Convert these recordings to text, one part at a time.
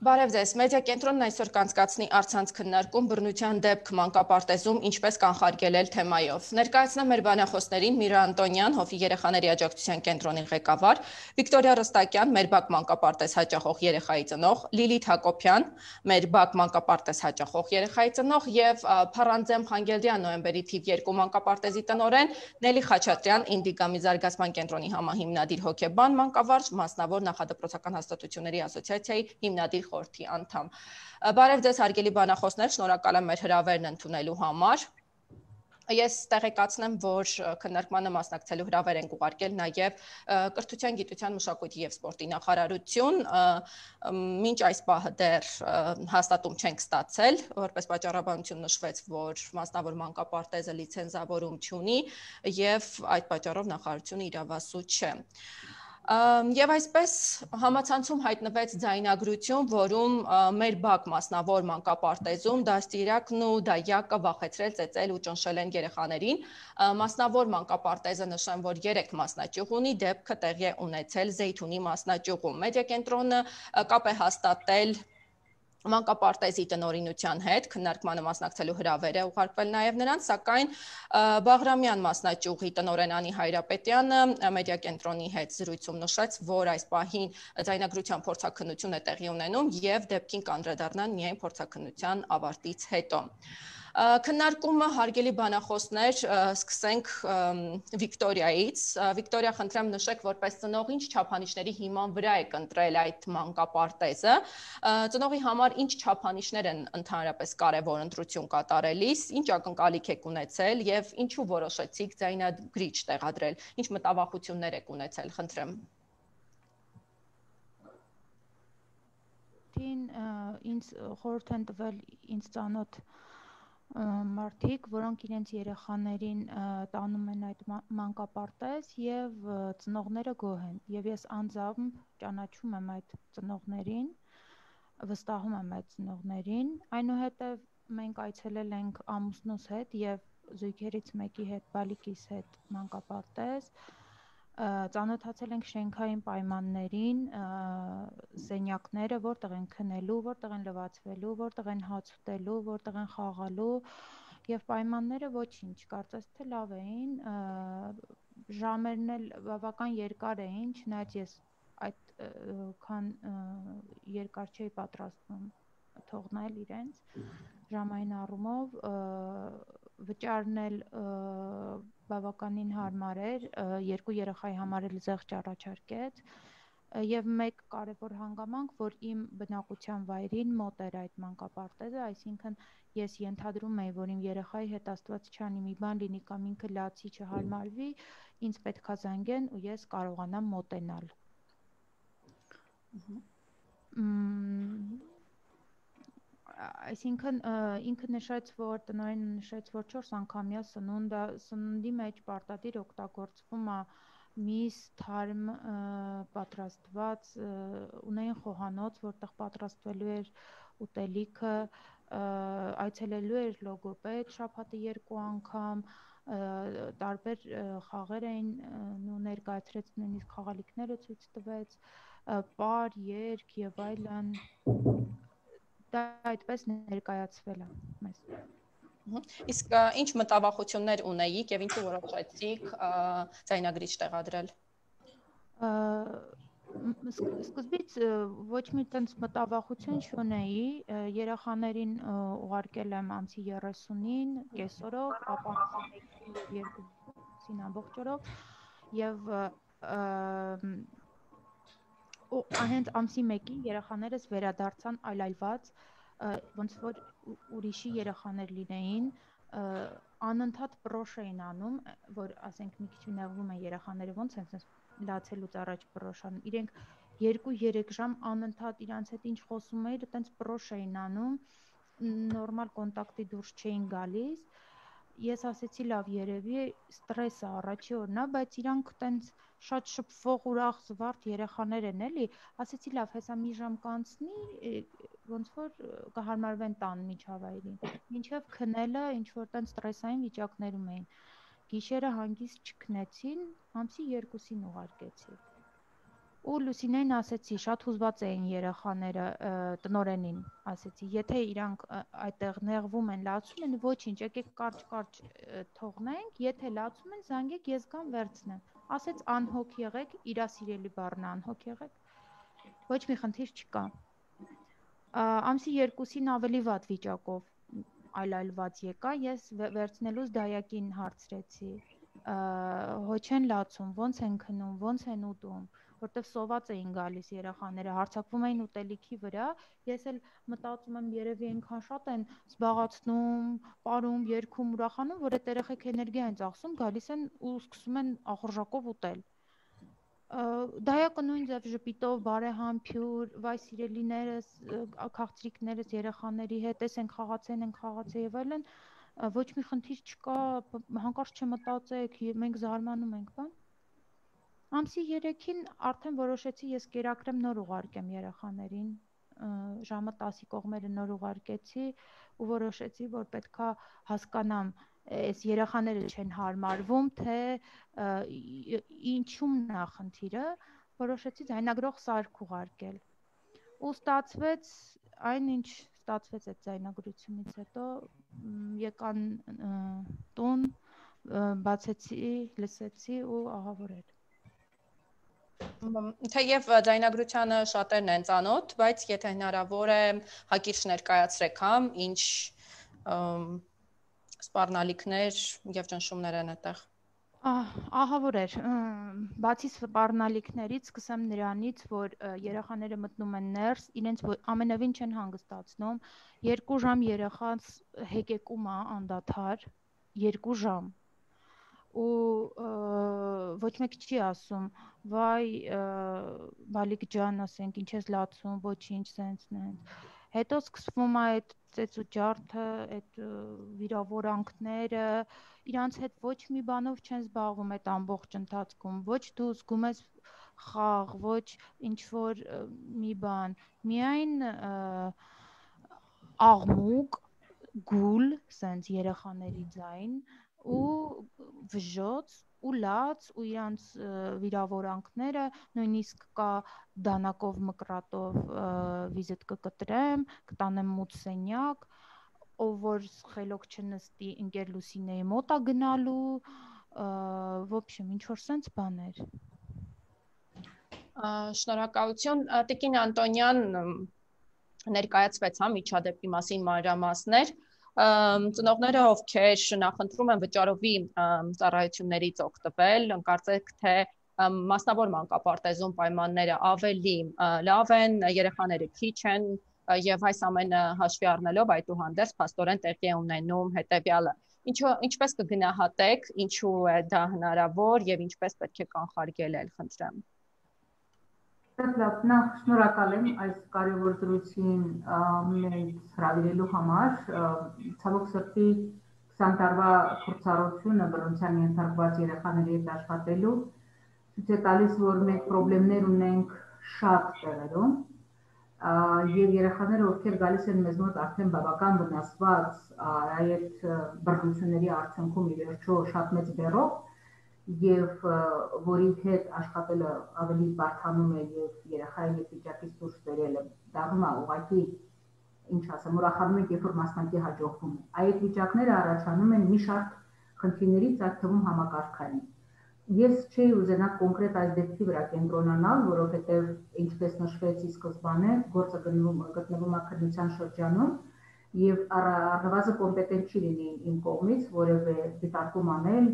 Բարև ձեզ, մեդիա կենտրոնն այսօր կանցկացնի առցանց քննարկում բռնության դեպք մանկապարտեզում ինչպես կանխարգելել թեմայով։ Ներկայացնեմ մեր բանախոսներին Միրա Անտոնյան, Հովի երեխաների աջակցության կենտրոնի ղեկավար, Վիկտորիա Ռստակյան, մեր բակ մանկապարտեզ հաճախող երեխայի ծնող, Լիլիթ Հակոբյան, մեր բակ մանկապարտեզ հաճախող երեխայի ծնող եւ Փարանձեմ Խանգելդյան նոյեմբերի թիվ 2 մանկապարտեզի տնօրեն, Նելի Խաչատրյան, Ինդիգամի զարգացման կենտրոնի համահիմնադիր հոգեբան մանկավարժ, մասնավոր նախադպրոցական հաստատությունների ասոցիացիայի հիմնադիր խորհրդի անդամ։ Բարև ձեզ հարգելի բանախոսներ, շնորհակալ եմ մեր հրավերն ընդունելու համար։ Ես տեղեկացնեմ, որ քննարկմանը մասնակցելու հրավեր ենք ուղարկել նաև Կրթության, գիտության, մշակույթի եւ սպորտի նախարարություն, մինչ այս պահը դեռ հաստատում չենք ստացել, որպես պատճառաբանություն նշվեց, որ մասնավոր մանկապարտեզը լիցենզավորում չունի եւ այդ պատճառով նախարարությունը իրավասու չէ։ Եվ այսպես համացանցում հայտնվեց ձայնագրություն, որում մեր բակ մասնավոր մանկապարտեզում դաստիարակն ու դայակը վախեցրել, ծեծել ու ճնշել են երեխաներին։ Մասնավոր մանկապարտեզը նշեմ, որ 3 մասնաճյուղ ունի, դեպքը տեղի է ունեցել Զեյթունի մասնաճյուղում։ Մեդիա կենտրոնը կապ է հաստատել մանկապարտեզի տնօրինության հետ, քննարկմանը մասնակցելու հրավեր է ուղարկվել նաև նրանց, սակայն Բաղրամյան մասնաճյուղի տնօրեն Անի Հայրապետյանը մեդիա կենտրոնի հետ զրույցում նշեց, որ այս պահին ձայնագրության փորձաքննություն է տեղի ունենում եւ դեպքին կանդրադառնան միայն փորձաքննության ավարտից հետո։ Քննարկումը հարգելի բանախոսներ, սկսենք Վիկտորիայից։ Վիկտորիա, խնդրեմ նշեք, որպես ծնող ինչ չափանիշների հիման վրա եք ընտրել այդ մանկապարտեզը։ Ծնողի համար ինչ չափանիշներ են ընդհանրապես կարևոր ընտրություն կատարելիս, ինչ ակնկալիք եք ունեցել եւ ինչու որոշեցիք ձայնագրիչ տեղադրել, ինչ մտավախություններ եք ունեցել, խնդրեմ։ Ինձ խորհուրդ են տվել ինձ ծանոթ մարդիկ, որոնք իրենց երեխաներին տանում են այդ մանկապարտեզ եւ ծնողները գոհ են։ Եվ ես անձամբ ճանաչում եմ այդ ծնողներին, վստահում եմ այդ ծնողներին։ Այնուհետև մենք այցելել ենք ամուսնուս հետ եւ զույգերից մեկի հետ, բալիկիս հետ մանկապարտեզ, ծանոթացել ենք շենքային պայմաններին, սենյակները, որտեղ են քնելու, որտեղ են լվացվելու, որտեղ են հաց ուտելու, որտեղ են խաղալու եւ պայմանները ոչինչ, կարծես թե լավ էին, ժամերն էլ բավական երկար էին, չնայած ես այդքան երկար չէի պատրաստվում թողնել իրենց ժամային առումով, վճարն էլ բավականին հարմար էր, 2 երեխայի համար էլ զեղչ առաջարկեց եւ մեկ կարեւոր հանգամանք, որ իմ բնակության վայրին մոտ էր այդ մանկապարտեզը, այսինքն ես ենթադրում էի, որ իմ երեխայի հետ Աստված չանի մի բան լինի կամ ինքը լացի չհարմարվի, ինձ պետքա զանգեն ու ես կարողանամ մոտենալ։ Այսինքն ինքը նշեց, որ տնօրենը նշեց, որ 4 անգամյա սննդի մեջ պարտադիր օգտագործվում է միս, թարմ պատրաստված, ունեին խոհանոց, որտեղ պատրաստվելու էր ուտելիքը, այցելելու էր լոգոպեդ շաբաթը 2 անգամ, տարբեր խաղեր էին ներկայացրեց, նույնիսկ խաղալիքները ցույց տվեց, պար, երգ եւ այլն, դա այդպես ներկայացվել է մեզ։ Իսկ ինչ մտավախություններ ունեիք եւ ինչու որոշեցիք ձայնագրիչ տեղադրել։ Սկզբից ոչ մի տենց մտավախություն չունեի, երեխաներին ուղարկել եմ ամսի 30-ին կեսօրով, ապա ամսի 1-ին եւ 2-ին ամբողջ օրով եւ հենց ամսի 1-ին երեխաներս վերադարձան այլայլված, ոնց որ ուրիշի երեխաներ լինեին, անընդհատ պրոշ էին անում, որ ասենք մի քիչ նեղվում են երեխաները, ոնց են լացելուց առաջ պրոշանում, իրենք 2-3 ժամ անընդհատ իրանց հետ ինչ խոսում էիր, այտենց պրոշ էին անում, նորմալ կոնտակտի դուրս չէին գալիս, ես ասեցի լավ երևի ստրես է առաջի օրն է, բայց իրանք տենց շատ շփվող ուրախ զվարթ երեխաներ են էլի, ասեցի լավ հեսա մի ժամ կանցնի, ոնց որ կհարմարվեն տան միջավայրին, մինչև քնելը ինչ որ տենց ստրեսային վիճակներում էին, գիշերը հանգիստ չքնեցին, ամսի 2-ին ուղարկեցի։ Ու Լուսինեն ասեցի, շատ հուզված էին երեխաները տնորենին, ասեցի, եթե իրանք այդտեղ նեղվում են, լացում են, ոչինչ, եկեք կարճ թողնենք, եթե լացում են, զանգեք, ես գամ վերցնեմ։ Ասեց անհոգ եղեք, իրա սիրելի բառն անհոգ եղեք, ոչ մի խնդիր չկա։ Ամսի 2-ին ավելի վատ վիճակով այլայլված եկա, ես վերցնելուց դայակին հարցրեցի, հոչ են լացում, ոնց են քնում, ոնց են ուտում, որտեվ սոված էին գալիս երեխաները, հարձակվում էին ուտելիքի վրա, ես էլ մտածում եմ երևի այնքան շատ են զբաղացնում, պարում, երգում, ուրախանում, որ այդ երեխեք էներգիա են ծախսում, գալիս են ու սկսում են ախորժակով ուտել։ Դայակը նույն ձև ժպիտով, բարեհամբույր, վայ սիրելիներս, քաղցրիկներս երեխաների հետ, են խաղացել եւ այլն, ոչ մի խնդիր չկա, հանկարծ չմտածեք, մենք զարմանում ենք, բան։ Ամսի 3-ին արդեն որոշեցի ես կերակրեմ նոր ուղարկեմ երեխաներին, ժամը 10-ի կողմերը նոր ուղարկեցի ու որոշեցի, որ պետքա հասկանամ, այս երեխաները չեն հարմարվում, թե ինչումն է խնդիրը, որոշեցի ձայնագրող սարք ուղարկել։ Ու ստացվեց այն, ինչ ստացվեց այդ ձայնագրությունից հետո, եկան տուն, բացեցի, լսեցի ու ահա որ էր։ Թեև ձայնագրությանը շատերն են ծանոթ, բայց եթե հնարավոր է հակիրճ ներկայացրեք, ինչ սպառնալիքներ եւ ճնշումներ են այդտեղ։ Ահա որ էր, բացի սպառնալիքներից սկսեմ նրանից, որ երեխաները մտնում են ներս, իրենց ամենևին չեն հանգստացնում, 2 ժամ երեխաց հեկեկում է անդադար, 2 ժամ ու ոչ մեկ չի ասում, վայ բալիկ ջան, ասենք, ինչ ես լացում, ոչինչ, սենց։ Հետո սկսվում է այդ ծեծու ջարդը, այդ վիրավորանքները, իրանց հետ ոչ մի բանով չեն զբաղվում այդ ամբողջ ընթացքում, ոչ դու զգում ես խաղ, ոչ ինչ որ մի բան, միայն աղմուկ, գուլ, սենց երեխաների ձայն ու վժոց ու լաց ու իրանց վիրավորանքները, նույնիսկ կա դանակով մկրատով վիզիտ կկտրեմ, կտանեմ մութ սենյակ, ով որ խելոք չնստի ընկեր Լուսինեի մոտ է գնալու, в общем, ինչ որ սենց բաներ։ Շնորհակալություն, Տիկին Անտոնյան, ներկայացվեց միջադեպի մասին մանրամասներ։ Ծնողները, ովքեր նախընտրում են վճարովի ծառայություններից օգտվել, կարծեք թե մասնավոր մանկապարտեզում պայմանները ավելի լավ են, երեխաները քիչ են եւ այս ամենը հաշվի առնելով այդուհանդերձ փաստորեն տեղի է ունենում հետեւյալը։ Ինչպես կգնահատեք, ինչու է դա հնարավոր եւ ինչպես պետք է կանխարգելել, խնդրեմ։ Նախ շնորհակալ եմ այս կարևոր դրույթին մեզ հրավիրելու համար, ցավոք սրտի 20 տարվա փորձառությունը բռնության ենթարկված երեխաների հետ աշխատելու ցույց է տալիս, որ մենք խնդիրներ ունենք շատ տեղերում եւ երեխաները, ովքեր գալիս են մեզ մոտ արդեն բավական վնասված այդ բռնությունների արդյունքում ի վերջո շատ մեծ բեռով եւ որի հետ աշխատելը ավելի բարդանում է եւ երեխայի հետ վիճակից դուրս բերելը դառնում է ուղղակի ինչ ասեմ, ուրախանում ենք, երբ որ մասնակի հաջողվում է։ Այդ վիճակները առաջանում են մի շարք խնդիրներից, այդ թվում համակարգային։ Ես չէի ուզենա կոնկրետ այս դեպքի վրա կենտրոնանալ, որովհետեւ ինչպես նշվեց ի սկզբանե, գործը գտնվում է քննության շրջանում եւ առնվազն կոմպետենտ չի լինի իմ կողմից որևէ դիտարկում անել,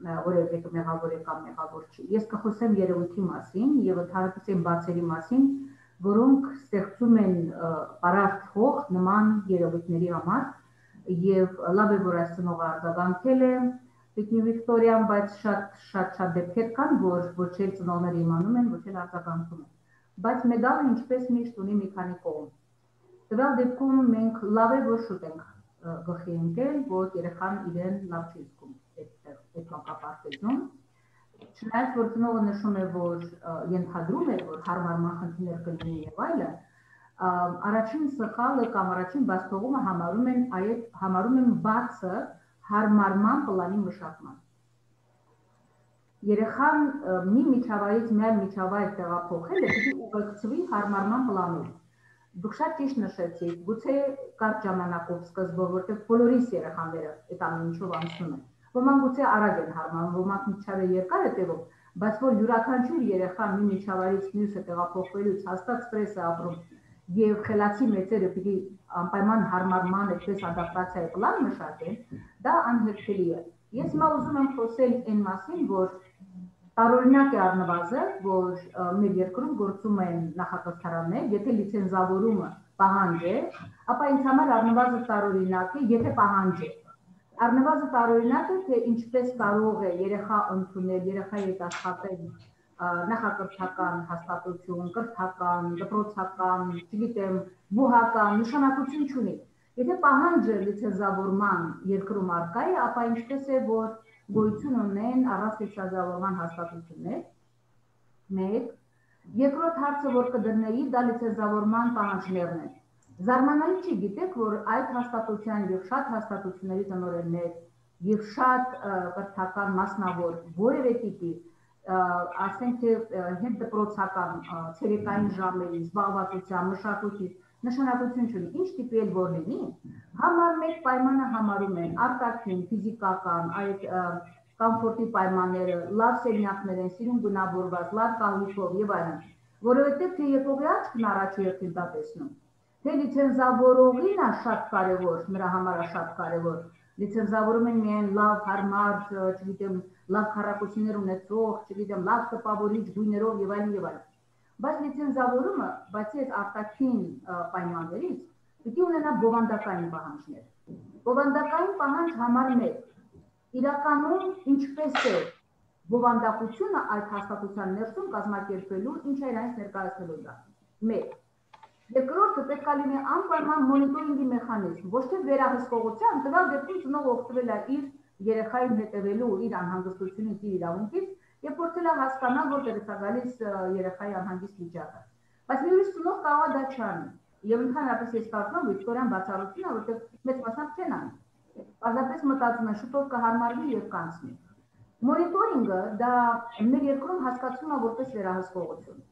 որևէ մեղավոր է կամ մեղավոր չի։ Ես կխոսեմ երևույթի մասին եւ ընդհանրապես այն բացերի մասին, որոնք ստեղծում են պարարտ հող նման երևույթների համար եւ լավ է որ այս ծնողը արձագանքել է Տիկին Վիկտորիան, բայց շատ դեպքեր կան, որ ոչ էլ ծնողները իմանում են, ոչ էլ արձագանքում են։ Բայց մեդալը ինչպես միշտ ունի մի քանի կողմ։ Տվյալ դեպքում մենք լավ է որ շուտ ենք գլխի ընկել, որ երեխան իրեն լավ չի զգում այդ մանկապարտեզում։ Չնայած որ ծնողը նշում է, որ ենթադրում է, որ հարմարման խնդիրներ կլինի եւ այլն, առաջին սխալը կամ առաջին բացթողումը համարում են բացը հարմարման պլանի մշակման։ երեխան մի միջավայրից միայն միջավայր տեղափոխելը պիտի ուղեկցվի հարմարման պլանով։ Դուք շատ ճիշտ նշեցիք, գուցե կարճ ժամանակով սկզբով, որտեղ բոլորիս երեխաները այդ ամեն ինչով անցնում են։ Ոմանք գուցե արագ են հարմարվում, ոմանք միջավայր երկար է տևում, բայց որ յուրաքանչյուր երեխա մի միջավայրից մյուսը տեղափոխվելուց հաստատ ստրես է ապրում եւ խելացի մեծերը պիտի անպայման հարմարման այդպես ադապտացիայի պլան մշակեն, դա անհերքելի է։ Ես հիմա ուզում եմ խոսել այն մասին, որ տարօրինակ է առնվազն, որ մեր երկրում գործում են նախակրթարաններ, եթե լիցենզավորումը պահանջ է, ապա ինձ համար առնվազն տարօրինակ է, եթե պահանջ է։ Առնվազն տարօրինակ է, թե ինչպես կարող է երեխա ընդունել, երեխայի հետ աշխատել նախակրթական հաստատություն, կրթական, դպրոցական, չգիտեմ, բուհական, նշանակություն չունի։ Եթե պահանջը լիցենզավորման երկրում առկա է, ապա ինչպես է, որ գոյություն ունեն առանց լիցենզավորման հաստատություններ, մեկ, երկրորդ հարցը, որ կդրնեի, դա լիցենզավորման պահանջներն են։ Զարմանալի չի, գիտեք, որ այդ հաստատության եւ շատ հաստատությունների տնօրեններ եւ շատ կրթական մասնավոր որևէ տիպի, ասենք թե հետդպրոցական ցերեկային ժամերի զբաղվածության, մշակույթի նշանակություն չունի, ինչ տիպի էլ որ լինի, համար մեկ պայմանը համարում են արտաքին, ֆիզիկական, այդ կոմֆորտի պայմանները, լավ սենյակներ են, սիրուն գունավորված, լավ կահույքով եւ այլն, որովհետեւ թե եկողի աչքն առաջի հերթին դա տեսնում, թե լիցենզավորողին է շատ կարեւոր, նրա համար է շատ կարեւոր, լիցենզավորում են միայն լավ, հարմար, չգիտեմ, լավ քառակուսիներ ունեցող, չգիտեմ, լավ տպավորիչ գույներով եւ այլն եւ այլն։ Բայց լիցենզավորումը, բացի այդ արտաքին պայմաններից, պիտի ունենա բովանդակային պահանջներ։ Բովանդակային պահանջ համար 1. Իրականում ինչպես է բովանդակությունը այդ հաստատության ներսում կազմակերպելու, ինչ է իրենից ներկայացնելու դա։ 1. Երկրորդը պետք է լինի անպայման մոնիտորինգի մեխանիզմ, ոչ թե վերահսկողության, տվյալ դեպքում ծնողը օգտվել է իր երեխային հետևելու իր անհանգստությունից, իր իրավունքից եւ փորձել է հասկանալ, որտեղից է գալիս երեխայի անհանգիստ վիճակը։ Բայց մի ուրիշ ծնող կարող է դա չանի։ Եվ ընդհանրապես ես կարծում եմ, Վիկտորիան բացառություն է, որտեղ մեծ մասամբ չեն անի։ Պարզապես մտածում են, շուտով կհարմարվի եւ կանցնի։ Մոնիտորինգը դա մեր երկրում հասկացվում է որպես վերահսկողություն։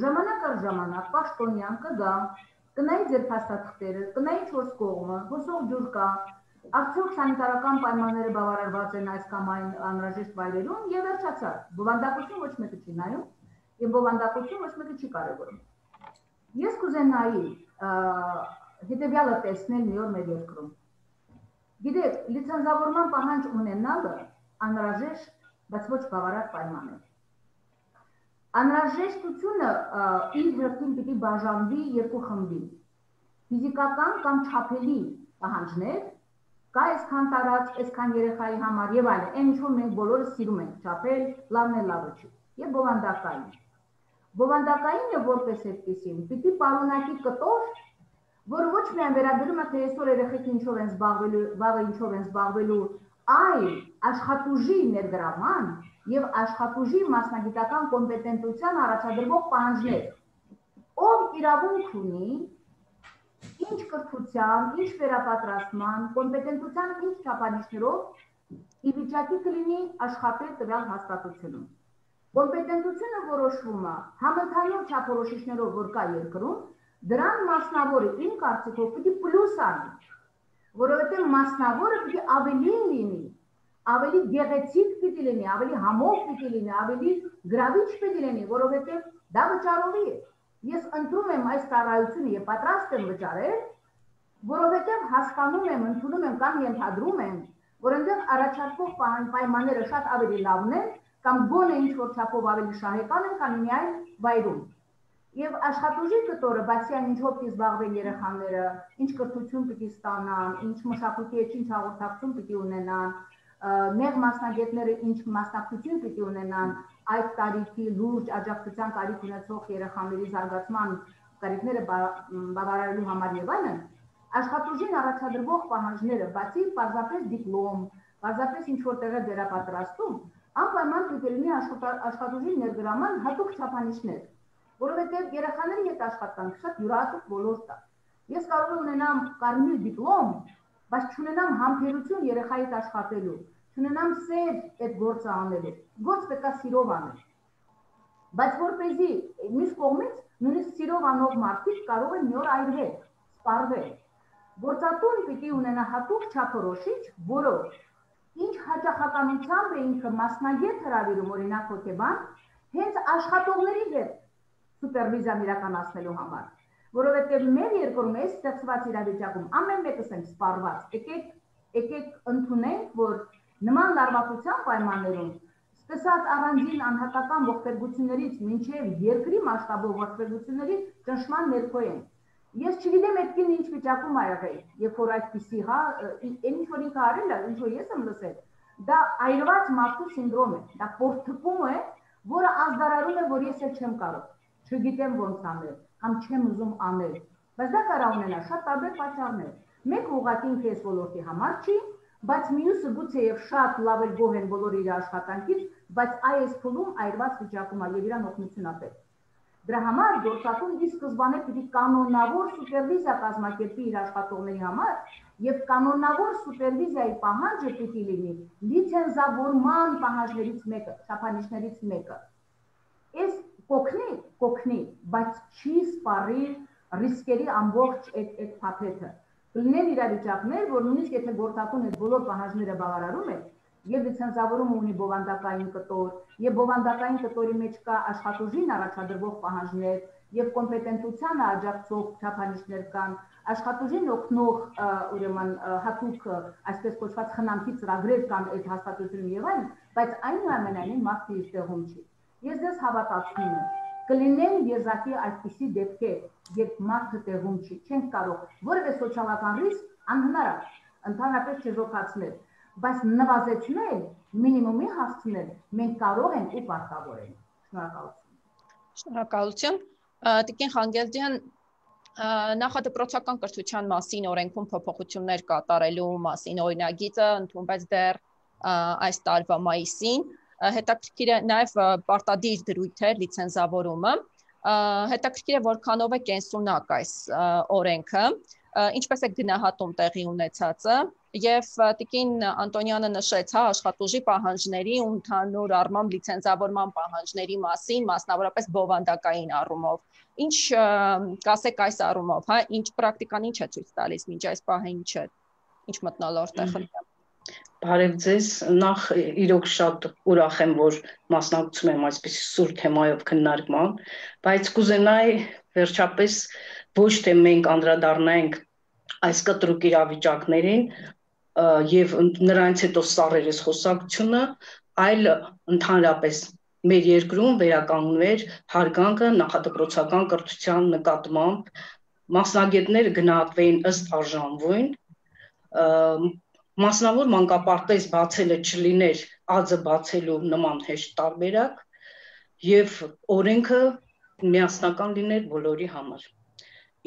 Ժամանակ առ ժամանակ պաշտոնյան կգա, կնայի ձեր փաստաթղթերը, կնայի 4 կողմը, հոսող ջուր կա, արդյոք սանիտարական պայմանները բավարարված են այս կամ այն անհրաժեշտ վայրերում եւ վերջացավ։ Բովանդակություն ոչ մեկը չի նայում եւ բովանդակություն ոչ մեկը չի կարեւորում։ Ես կուզենայի հետեւյալը տեսնել մի օր մեր երկրում։ Գիտեք, լիցենզավորման պահանջ ունենալը անհրաժեշտ, բայց ոչ բավարար պայման է։ Անհրաժեշտությունը իր հերթին պիտի բաժանվի երկու խմբի։ Ֆիզիկական կամ չափելի պահանջներ, կա այսքան տարած, այսքան երեխայի համար եւ այլն, այն ինչ որ մենք բոլորը սիրում ենք չափել, լավն է լավը չի, եւ բովանդակային։ Բովանդակայինը որպես այդպեսին պիտի պարունակի կտոր, որը ոչ միայն վերաբերում է թե այսօր երեխեքը ինչով են զբաղվելու, վաղը ինչով են զբաղվելու, այլ աշխատուժի ներգրաման եւ աշխատուժի մասնագիտական կոմպետենտության առաջադրվող պահանջներ։ Ով իրավունք ունի ինչ կրթության, ինչ վերապատրաստման, կոմպետենտության ինչ չափանիշներով ի վիճակի կլինի աշխատել տվյալ հաստատությունում։ Կոմպետենտությունը որոշվում է համընդհանուր չափորոշիչներով, որ կա երկրում, դրան մասնավորը իմ կարծիքով պիտի պլյուս անի, որովհետև մասնավորը պիտի ավելի լինի, ավելի գեղեցիկ պիտի լինի, ավելի համով պիտի լինի, ավելի գրավիչ պիտի լինի, որովհետև դա վճարովի է։ Ես ընտրում եմ այս ծառայությունը եւ պատրաստ եմ վճարել, որովհետեւ հասկանում եմ, ընդունում եմ կամ ենթադրում եմ, որ այնտեղ առաջարկվող պայմանները շատ ավելի լավն են կամ գոնե ինչ որ չափով ավելի շահեկան են, քան միայն վայրում։ Եվ աշխատուժի կտորը, բացի այն ինչով պիտի զբաղվեն երեխաները, ինչ կրթություն պիտի ստանան, ինչ մշակույթի հետ ինչ հաղորդակցություն պիտի ունենան, նեղ մասնագետները ինչ մասնակցություն պիտի ունենան այդ տարիքի լուրջ աջակցության կարիք ունեցող երեխաների զարգացման կարիքները բավարարելու համար եւ այլն, աշխատուժին առաջադրվող պահանջները, բացի պարզապես դիպլոմ, պարզապես ինչ որ տեղը վերապատրաստում, անպայման պիտի լինի աշխատուժի ներգրաման հատուկ չափանիշներ, որովհետեւ երեխաների հետ աշխատանքը շատ յուրահատուկ ոլորտ է։ Ես կարող եմ ունենամ կարմիր դիպլոմ, բայց չունենամ համբերություն երեխայի հետ աշխատելու, չունենամ սեր այդ գործը անելու։ Գործ պետք է սիրով անել։ Բայց որպեսզի մյուս կողմից նույնիսկ սիրով անող մարդիկ կարող են մի օր այրվել, սպառվել։ Գործատուն պիտի ունենա հատուկ չափորոշիչ, որով ինչ հաճախականությամբ է ինքը մասնագետ հրավիրում, օրինակ հոգեբան, հենց աշխատողների հետ սուպերվիզիան իրականացնելու համար, որովհետև մեր երկրում այս ստեղծված իրավիճակում ամեն մեկս ենք սպառված։ Եկեք ընդունենք, որ նման լարվածության պայմաններում սկսած առանձին անհատական ողբերգություններից մինչև երկրի մասշտաբով ողբերգությունների ճնշման ներքո են։ Ես չգիտեմ այդ կինը ինչ վիճակում ա եղել, երբ որ այդպիսի, հա, ինչ որ ինքը արել է, ինչ որ ես եմ լսել, դա այրված մարդու սինդրոմ է, դա պորտփում է, որը ազդարարում է, որ ես էլ չեմ կարող, չգիտեմ ոնց անել, կամ չեմ ուզում անել, բայց դա կարող ունենա շատ տարբեր պատճառներ։ Մեկը ուղղակի ինքը այս ոլորտի համար չի, բայց մյուսը գուցեև շատ լավ էլ գոհ են բոլոր իր աշխատանքից, բայց այս փուլում այրված վիճակում է եւ իրան օգնություն ա պետք։ Դրա համար գործատուն ի սկզբանե պիտի կանոնավոր սուպերվիզիա կազմակերպի իր աշխատողների համար եւ կանոնավոր սուպերվիզիայի պահանջը պիտի լինի լիցենզավորման պահանջներից մեկը, չափանիշներից մեկը։ Այս կօգնի, բայց չի սպառի ռիսկերի ամբողջ այդ փաթեթը։ Կլինեն իրավիճակներ, որ նույնիսկ եթե գործատուն այդ բոլոր պահանջները բավարարում է, եւ լիցենզավորումը ունի բովանդակային կտոր, եւ բովանդակային կտորի մեջ կա աշխատուժին առաջադրվող պահանջներ, եւ կոմպետենտությանը աջակցող չափանիշներ կան, աշխատուժին օգնող ուրեմն հատուկ այսպես կոչված խնամքի ծրագրեր կան այդ հաստատությունում եւ այլն, բայց այնուամենայնիվ մարդը իր տեղում չի։ Ես դες հավատացնում եմ, կլինեն եզակի այդպիսի դեպքեր, երբ մարդը տեղում չի, չենք կարող որևէ սոցիալական ռիսկ անհնար է, ընդհանրապես չժոքացնել, բայց նվազեցնել, մինիմումի հասցնել, մենք կարող ենք ու պարտավոր ենք։ Շնորհակալություն։ Շնորհակալություն։ Տիկին Խանգելդյան, նախադպրոցական կրթության մասին օրենքում փոփոխություններ կատարելու մասին օրինագիծը ընդունվեց դեռ այս տարվա մայիսին։ Հետաքրքիր է նաև պարտադիր դրույթ է լիցենզավորումը։ Հետաքրքիր է որքանով է կենսունակ այս օրենքը, ինչպես է գնահատում տեղի ունեցածը, եւ տիկին Անտոնյանը նշեց, հա, աշխատուժի պահանջների ու ընդհանուր առմամբ լիցենզավորման պահանջների մասին, մասնավորապես բովանդակային առումով։ Ինչ կասեք այս առումով, հա, ինչ պրակտիկան ինչ է ցույց տալիս մինչ այս պահը ինչ մթնոլորտ է խնդրում։ Բարև ձեզ, նախ իրոք շատ ուրախ եմ, որ մասնակցում եմ այսպիսի սուր թեմայով քննարկման, բայց կուզենայի վերջապես ոչ թե մենք անդրադառնանք այս կտրուկ իրավիճակներին եւ նրանից հետո սառերես խոսակցությունը, այլ ընդհանրապես մեր երկրում վերականգնվեր հարգանքը նախադպրոցական կրթության նկատմամբ, մասնագետները գնահատվեին ըստ արժանվույն, մասնավոր մանկապարտեզ բացելը չլիներ ածը բացելու նման հեշտ տարբերակ եւ օրենքը միասնական լիներ բոլորի համար։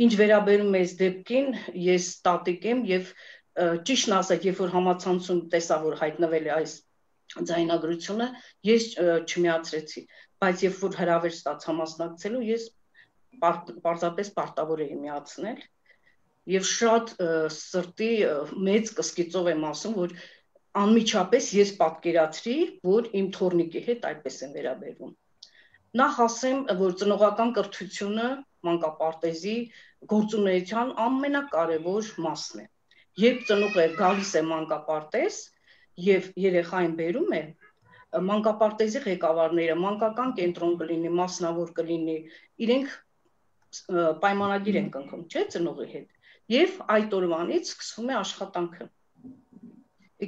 Ինչ վերաբերում է այս դեպքին, ես տատիկ եմ եւ ճիշտն ասած, երբ որ համացանցում տեսա, որ հայտնվել է այս ձայնագրությունը, ես չմիացրեցի, բայց երբ որ հրավեր ստացա մասնակցելու, ես պարզապես պարտավոր էի միացնել։ Եվ շատ սրտի մեծ կսկիծով եմ ասում, որ անմիջապես ես պատկերացրի, որ իմ թոռնիկի հետ այդպես են վերաբերվում։ Նախ ասեմ, որ ծնողական կրթությունը մանկապարտեզի գործունեության ամենակարևոր մասն է։ Երբ ծնողը գալիս է մանկապարտեզ եւ երեխային բերում է, մանկապարտեզի ղեկավարները, մանկական կենտրոն կլինի, մասնավոր կլինի, իրենք պայմանագիր են կնքում, չէ՞, ծնողի հետ։ Եվ այդ օրվանից սկսվում է աշխատանքը։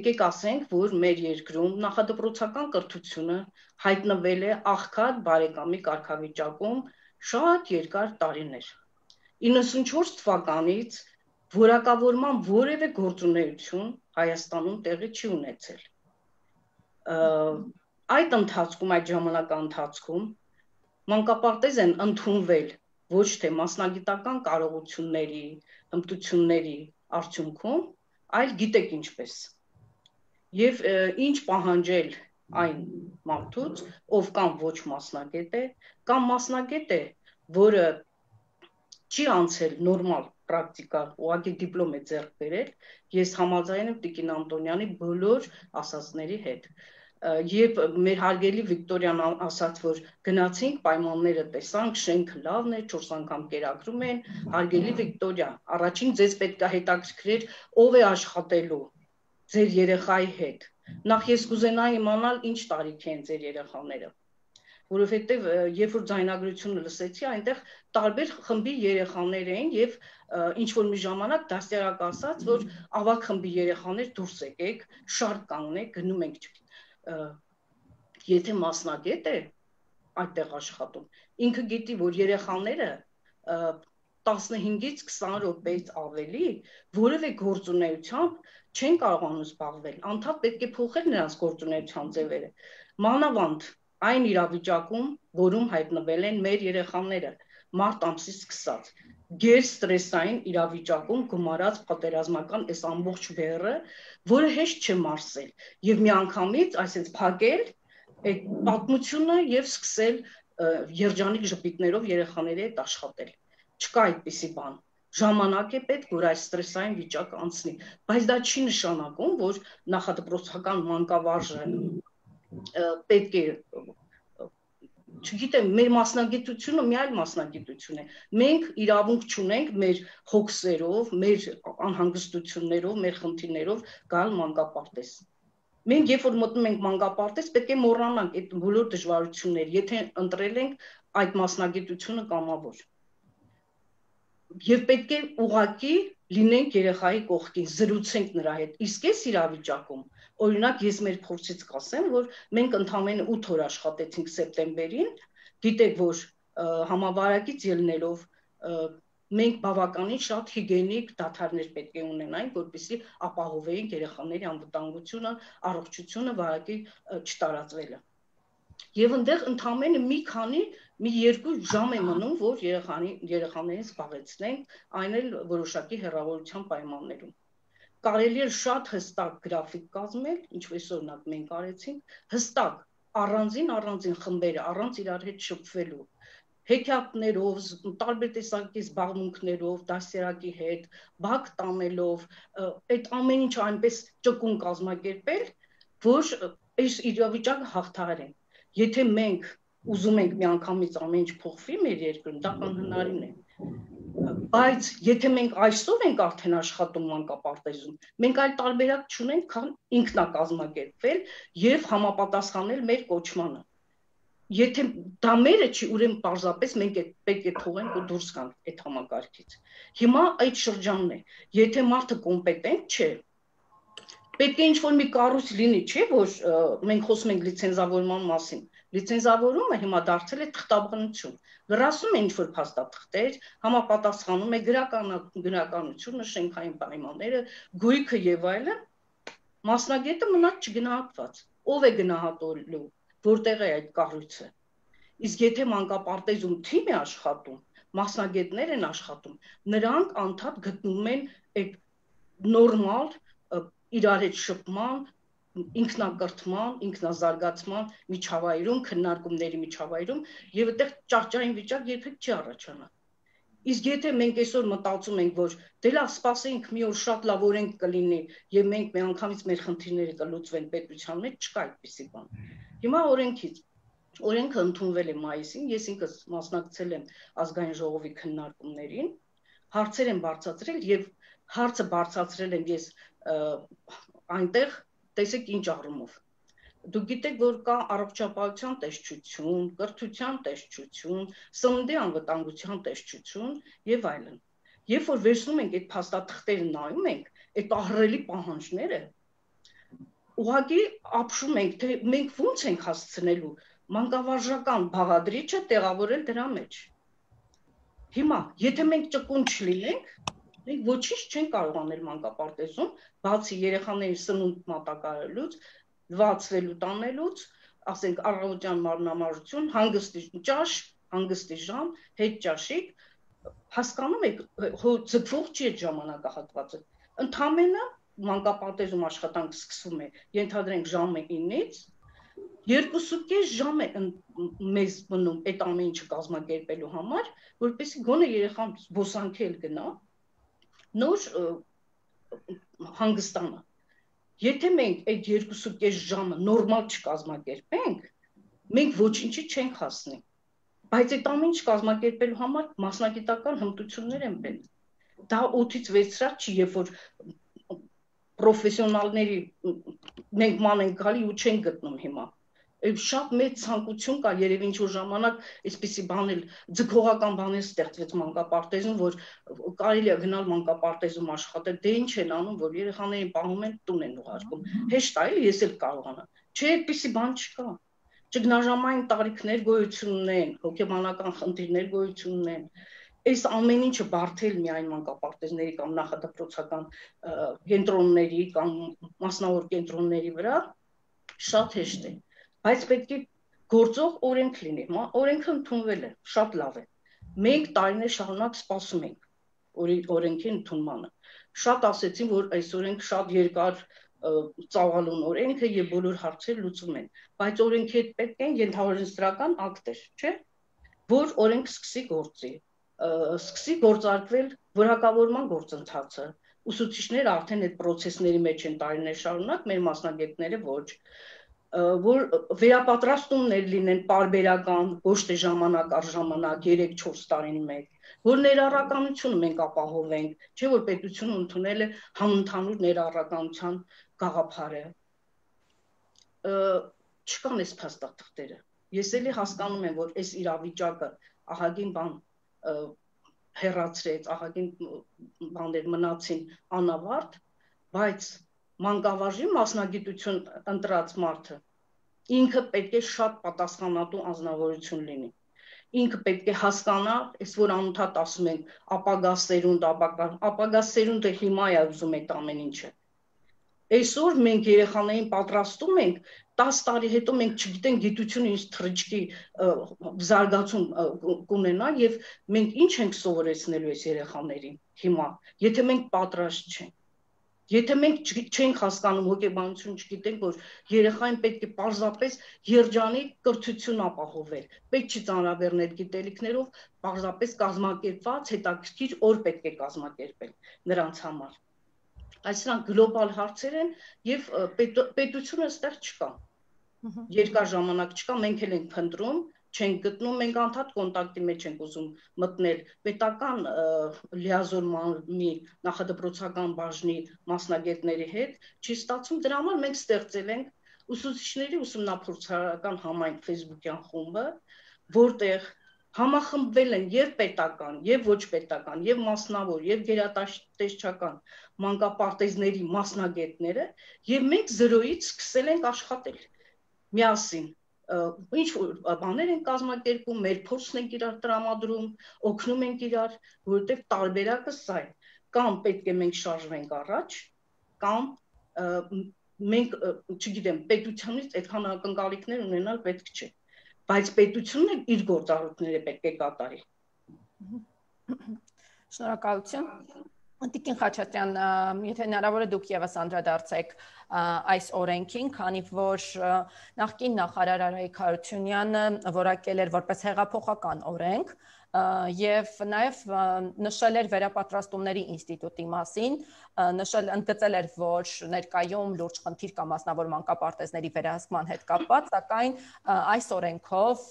Եկեք ասենք, որ մեր երկրում նախադպրոցական կրթությունը հայտնվել է աղքատ բարեկամի կարգավիճակում շատ երկար տարիներ։ 94 թվականից որակավորման որևէ գործունեություն Հայաստանում տեղի չի ունեցել։ Այդ ընթացքում, այդ ժամանակի ընթացքում մանկապարտեզ են ընդունվել ոչ թե մասնագիտական կարողությունների, հմտությունների արդյունքում, այլ գիտեք ինչպես։ Եվ ինչ պահանջել այն մարդուց, ով կամ ոչ մասնագետ է, կամ մասնագետ է, որը չի անցել նորմալ պրակտիկա, ուղղակի դիպլոմ է ձեռք բերել, ես համաձայն եմ Տիկին Անտոնյանի բոլոր ասածների հետ։ Երբ մեր հարգելի Վիկտորիան ասաց, որ գնացինք, պայմանները տեսանք, շենքը լավն է, 4 անգամ կերակրում են, հարգելի Վիկտորիա, առաջին ձեզ պետք է հետաքրքրեր ով է աշխատելու ձեր երեխայի հետ։ Նախ ես կուզենայի իմանալ ինչ տարիքի են ձեր երեխաները, որովհետև երբ որ ձայնագրությունը լսեցի, այնտեղ տարբեր խմբի երեխաներ էին եւ ինչ որ մի ժամանակ դաստիարակ ասաց, որ ավագ խմբի երեխաներ դուրս եկեք, շարք կանգնեք, գնում ենք, եթե մասնագետ է այդտեղ աշխատում, ինքը գիտի, որ երեխաները 15-ից 20 րոպեից ավելի որևէ գործունեությամբ չեն կարողանում զբաղվել, անդադ պետք է փոխել նրանց գործունեության ձևերը, մանավանդ այն իրավիճակում, որում հայտնվել են մեր երեխաները, մարտ ամսից սկսած, գերստրեսային իրավիճակում գումարած պատերազմական այս ամբողջ բեռը, որը հեշտ չէ մարսել, եւ միանգամից այսպես փակել այդ պատմությունը եւ սկսել երջանիկ ժպիտներով երեխաների հետ աշխատել։ Չկա այդպիսի բան։ Ժամանակ է պետք, որ այս ստրեսային վիճակը անցնի, բայց դա չի նշանակում, որ նախադպրոցական մանկավարժը պետք է, չգիտեմ, մեր մասնագիտությունը մի այլ մասնագիտություն է։ Մենք իրավունք չունենք մեր հոգսերով, մեր անհանգստություններով, մեր խնդիրներով գալ մանկապարտեզ։ Մենք երբ որ մտնում ենք մանկապարտեզ, պետք է մոռանանք այդ բոլոր դժվարությունները, եթե ընտրել ենք այդ մասնագիտությունը կամավոր։ Եվ պետք է ուղղակի լինենք երեխայի կողքին, զրուցենք նրա հետ։ Իսկ այս իրավիճակում, օրինակ ես մեր փորձից կասեմ, որ մենք ընդամենը 8 օր աշխատեցինք սեպտեմբերին, գիտեք, որ համավարակից ելնելով մենք բավականին շատ հիգիենիկ դադարներ պետք է ունենայինք, որպեսզի ապահովեինք երեխաների անվտանգությունը, առողջությունը, վարակի չտարածվելը։ Եվ այնտեղ ընդամենը մի 2 ժամ է մնում, որ երեխաներին զբաղեցնենք, այն էլ որոշակի հեռավորության պայմաններում։ Կարելի է շատ հստակ գրաֆիկ կազմել, ինչպես օրինակ մենք արեցինք, հստակ առանձին խմբերը, առանց իրար հետ շփվելու, հեքիաթներով, տարբեր տեսակի զբաղմունքներով, դաստիարակի հետ, բակ տանելով, այդ ամեն ինչ այնպես ճկուն կազմակերպել, որ այս իրավիճակը հաղթահարենք։ Եթե մենք ուզում ենք միանգամից ամեն ինչ փոխվի մեր երկրում, դա անհնարին է։ Բայց եթե մենք այսօր ենք արդեն աշխատում մանկապարտեզում, մենք այլ տարբերակ չունենք, քան ինքնակազմակերպվել եւ համապատասխանել մեր կոչմանը։ Եթե դա մերը չի, ուրեմն պարզապես մենք պետք է թողենք ու դուրս գանք այդ համակարգից։ Հիմա այդ շրջանն է։ Եթե մարդը կոմպետենտ չէ, պետք է ինչ-որ մի կառույց լինի, չէ՞ որ մենք խոսում ենք լիցենզավորման մասին։ Լիցենզավորումը հիմա դարձել է թղթաբանություն։ Լրացում է ինչ-որ փաստաթղթեր, համապատասխանում է գրականությունը, շենքային պայմանները, գույքը եւ այլն, մասնագետը մնաց չգնահատված։ Ով է գնահատելու, որտեղ է այդ կառույցը։ Իսկ եթե մանկապարտեզում թիմ է աշխատում, մասնագետներ են աշխատում, նրանք անդադ գտնում են այդ նորմալ իրար հետ շփման, ինքնակրթման, ինքնազարգացման միջավայրում, քննարկումների միջավայրում եւ այդտեղ ճահճային վիճակ երբեք չի առաջանա։ Իսկ եթե մենք այսօր մտածում ենք, որ դե լավ, սպասենք մի օր շատ լավ օրենք կլինի եւ մենք միանգամից մեր խնդիրները կլուծվեն պետության մեջ, չկա այդպիսի բան։ Հիմա օրենքը ընդունվել է մայիսին, ես ինքս մասնակցել եմ ազգային ժողովի քննարկումներին, հարցեր են բարձրացրել եւ հարցը բարձրացրել եմ ես այնտեղ, տեսեք ինչ առումով։ Դուք գիտեք, որ կա առողջապահության տեսչություն, կրթության տեսչություն, սննդի անվտանգության տեսչություն եւ այլն։ Երբ որ վերցնում ենք այդ փաստաթղթերը նայում ենք, այդ ահռելի պահանջները, ուղղակի ապշում ենք, թե մենք ո՞նց ենք հասցնելու մանկավարժական բաղադրիչը տեղավորել դրա մեջ։ Հիմա, եթե մենք ճկուն չլինենք, մենք ոչինչ չենք կարող անել մանկապարտեզում, բացի երեխաների սնունդ մատակարարելուց, լվացվելու տանելուց, ասենք առավոտյան մարմնամարություն, հանգստի ճաշ, հանգստի ժամ, հետ ճաշիկ, հասկանում եք, ձգվող չի այդ ժամանակահատվածը։ Ընդամենը մանկապարտեզում աշխատանք սկսվում է, ենթադրենք ժամը 9-ից, 2.5 ժամ է մեզ մնում այդ ամեն ինչը կազմակերպելու համար, որպեսզի գոնե երեխան զբոսանքի էլ գնա, նոր հանգստանա։ Եթե մենք այդ 2.5 ժամը նորմալ չկազմակերպենք, մենք ոչինչի չենք հասնի։ Բայց այդ ամեն ինչ կազմակերպելու համար մասնագիտական հմտություններ են պետք։ Դա 8-ից 6 սրահ չի, երբ որ պրոֆեսիոնալների մենք ման ենք գալի ու չենք գտնում հիմա։ Շատ մեծ ցանկություն կա, երևի ինչ-որ ժամանակ այսպիսի բան էլ ձգողական բան է ստեղծվեց մանկապարտեզում, որ կարելի է գնալ մանկապարտեզում աշխատել, դե ինչ են անում, որ երեխաներին պահում են, տուն են ուղարկում։ Հեշտ է, ես էլ կարողանամ։ Չէ, այդպիսի բան չկա։ Ճգնաժամային տարիքներ գոյություն ունեն, հոգեբանական խնդիրներ գոյություն ունեն։ Այս ամեն ինչը բարթել միայն մանկապարտեզների կամ նախադպրոցական կենտրոնների կամ մասնավոր կենտրոնների վրա շատ հեշտ է, բայց պետք է գործող օրենք լինի։ Օրենքը ընդունվել է, շատ լավ է։ Մենք տարիներ շարունակ սպասում ենք օրենքի ընդունմանը։ Շատ ասեցին, որ այս օրենք շատ երկար ծավալուն օրենքը եւ բոլոր հարցերը լուծում են, բայց օրենքի հետ պետք են ենթաօրենսդրական ակտեր, չէ՞, որ օրենք սկսի գործի, սկսի գործարկվել որակավորման գործընթացը։ Ուսուցիչները արդեն այդ process-ների մեջ են տարիներ շարունակ, մեր մասնագետները ոչ, որ վերապատրաստումներ լինեն պարբերական, ոչ թե ժամանակ առ ժամանակ 3-4 տարին մեկ, որ ներառականությունը մենք ապահովենք, չէ՞ որ պետությունը ընդունել է համընդհանուր ներառականության գաղափարը։ Չկան այս փաստաթղթերը։ Ես էլի հասկանում եմ, որ այս իրավիճակը ահագին բան հեռացրեց, ահագին բաներ մնացին անավարտ, բայց մանկավարժի մասնագիտություն ընտրած մարդը ինքը պետք է շատ պատասխանատու անձնավորություն լինի։ Ինքը պետք է հասկանա, այս որ անընդհատ ասում են ապագա սերունդը հիմա է ուզում այդ ամեն ինչը։ Այսօր մենք երեխաներին պատրաստում ենք, 10 տարի հետո մենք չգիտենք գիտությունը ինչ թռիչքի զարգացում կունենա եւ մենք ինչ ենք սովորեցնելու այս երեխաներին հիմա, եթե մենք պատրաստ չենք։ Եթե մենք չենք հասկանում հոգեբանություն, չգիտենք, որ երեխային պետք է պարզապես երջանիկ կրթություն ապահովել, պետք չի ծանրաբեռնել գիտելիքներով, պարզապես կազմակերպված, հետաքրքիր օր պետք է կազմակերպել նրանց համար։ Այս սրանք գլոբալ հարցեր են եւ պետությունը այստեղ չկա։ Երկար ժամանակ չկա, մենք էլ ենք փնտրում, չենք գտնում, մենք անդադ կոնտակտի մեջ ենք ուզում մտնել պետական լիազորմանի նախադպրոցական բաժնի մասնագետների հետ, չի ստացվում, դրա համար մենք ստեղծել ենք ուսուցիչների ուսումնափորձարարական համայնք Facebook-յան խումբը, որտեղ համախմբվել են եւ պետական, եւ ոչ պետական, եւ մասնավոր, եւ գերատեսչական մանկապարտեզների մասնագետները, եւ մենք 0-ից սկսել ենք աշխատել միասին։ Ինչ որ բաներ են կազմակերպում, մեր փորձն ենք իրար տրամադրում, օգնում ենք իրար, որովհետեւ տարբերակը սա է։ Կամ պետք է մենք շարժվենք առաջ, կամ մենք, չգիտեմ, պետությունից այդքան ակնկալիքներ ունենալ պետք չէ։ Բայց պետությունն իր գործառույթները պետք է կատարի։ Շնորհակալություն։ Տիկին Խաչատրյան, եթե հնարավոր է դուք եւս անդրադարձեք այս օրենքին, քանի որ նախկին նախարար Արայիկ Հարությունյանը որակել էր որպես հեղափոխական օրենք եւ նաեւ նշել էր վերապատրաստումների ինստիտուտի մասին, ընդգծել էր, որ ներկայում լուրջ խնդիր կա մասնավոր մանկապարտեզների վերահսկման հետ կապված, սակայն այս օրենքով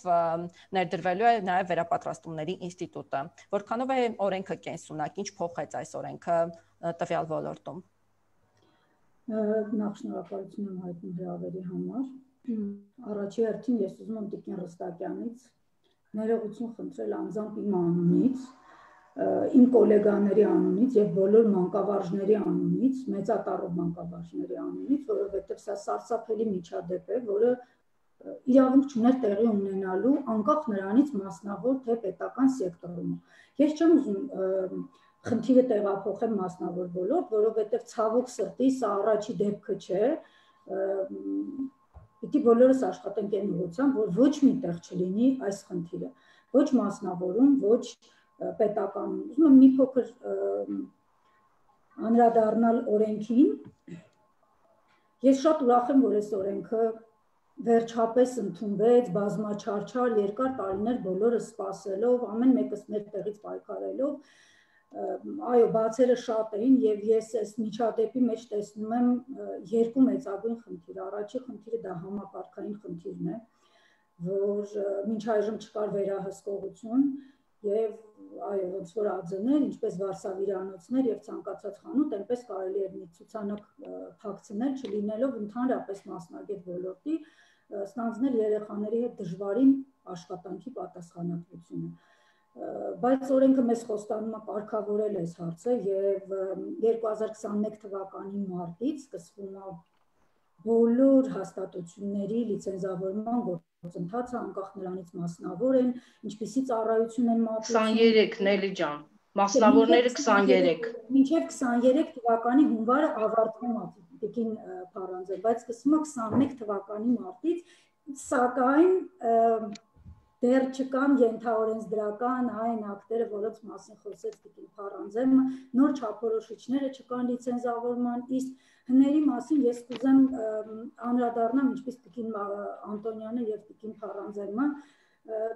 ներդրվելու է նաեւ վերապատրաստումների ինստիտուտը։ Որքանով է օրենքը կենսունակ, ինչ փոխեց այս օրենքը տվյալ ոլորտում։ Նախ շնորհակալություն եմ հայտնում հրավերի համար։ Առաջի հերթին ես ուզում եմ Տիկին Ռստակյանից ներողություն խնդրել անձամբ իմ անունից, իմ գոլեգաների անունից եւ բոլոր մանկավարժների անունից, մեծատառով մանկավարժների անունից, որովհետեւ սա սարսափելի միջադեպ է, որը իրավունք չուներ տեղի ունենալու անկախ նրանից մասնավոր թե պետական սեկտորում։ Ես չեմ ուզում խնդիրը տեղափոխեմ մասնավոր ոլորտ, որովհետեւ ցավոք սրտի սա առաջի դեպքը չէ։ Պիտի բոլորս աշխատենք այն ուղղությամբ, որ ոչ մի տեղ չլինի այս խնդիրը, ոչ մասնավորում, ոչ պետականում։ Ուզում եմ մի փոքր անդրադառնալ օրենքին։ Ես շատ ուրախ եմ, որ այս օրենքը վերջապես ընդունվեց բազմաչարչար երկար տարիներ բոլորը սպասելով, ամեն մեկս մեր տեղից պայքարելով, այո, բացերը շատ էին եւ ես այս միջադեպի մեջ տեսնում եմ երկու մեծագույն խնդիր։ Առաջի խնդիրը դա համակարգային խնդիրն է, որ մինչ այժմ չկար վերահսկողություն եւ այո, ոնց որ ԱՁՆ-ներ, ինչպես վարսավիրանոցներ եւ ցանկացած խանութ, այնպես կարելի էր մի ցուցանակ փակցնել, չլինելով ընդհանրապես մասնագետ ոլորտի, ստանձնել երեխաների հետ դժվարին աշխատանքի պատասխանատվությունը։ Բայց օրենքը մեզ խոստանում է կարգավորել այս հարցը եւ 2021 թվականի մարտից սկսվում է բոլոր հաստատությունների լիցենզավորման գործընթացը, անկախ նրանից մասնավոր են, ինչպիսի ծառայություն են մատուցում։ 23 Նելի ջան, մասնավորները 23։ Մինչև 23 թվականի հունվարը ավարտվում է Տիկին Փարանձը, բայց սկսվում է 21 թվականի մարտից, սակայն դեռ չկան ենթաօրենսդրական այն ակտերը, որոնց մասին խոսեց Տիկին Փարանձեմը, նոր չափորոշիչները չկան լիցենզավորման, իսկ հների մասին ես կուզեմ անդրադառնամ, ինչպես Տիկին Անտոնյանը եւ Տիկին Փարանձեմը,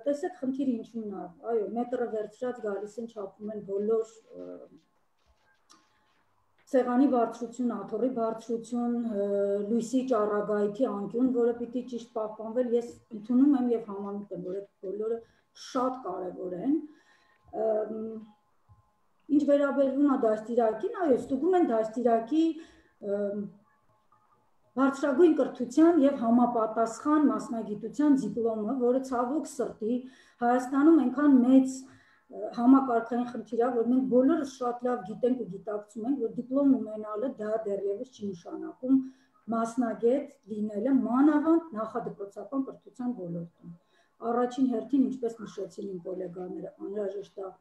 տեսեք խնդիրը ինչու՞մն է, այո, մետրը վերցրած գալիս են չափում են բոլոր սեղանի բարձրություն, աթոռի բարձրություն, լույսի ճառագայթի անկյուն, որը պիտի ճիշտ պահպանվել, ես ընդունում եմ եւ համամիտ եմ, որ այդ բոլորը շատ կարեւոր են։ Ինչ վերաբերվում է դաստիարակին, այո, ստուգում են դաստիարակի բարձրագույն կրթության եւ համապատասխան մասնագիտության դիպլոմը, որը ցավոք սրտի Հայաստանում այնքան մեծ համակարգային խնդիր է, որ մենք բոլորս շատ լավ գիտենք ու գիտակցում ենք, որ դիպլոմ ունենալը դա դեռևս չի նշանակում մասնագետ լինելը մանավանդ նախադպրոցական կրթության ոլորտում։ Առաջին հերթին, ինչպես նշեցին իմ գոլեգաները, անհրաժեշտ է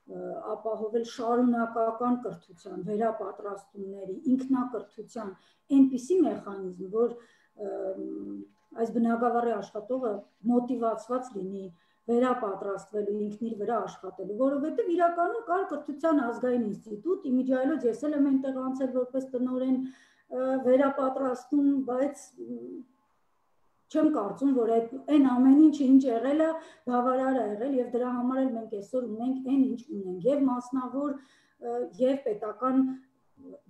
ապահովել շարունակական կրթության, վերապատրաստումների, ինքնակրթության այնպիսի մեխանիզմ, որ այս բնագավառի աշխատողը մոտիվացված լինի վերապատրաստվելու, ինքն իր վրա աշխատելու, որովհետև իրականում կար կրթության ազգային ինստիտուտ, իմիջիայլոց ես էլ եմ այնտեղ անցել որպես տնօրեն վերապատրաստում, բայց չեմ կարծում, որ այն ամեն ինչը ինչ եղել է, բավարար է եղել եւ դրա համար էլ մենք այսօր ունենք այն ինչ ունենք, եւ մասնավոր եւ պետական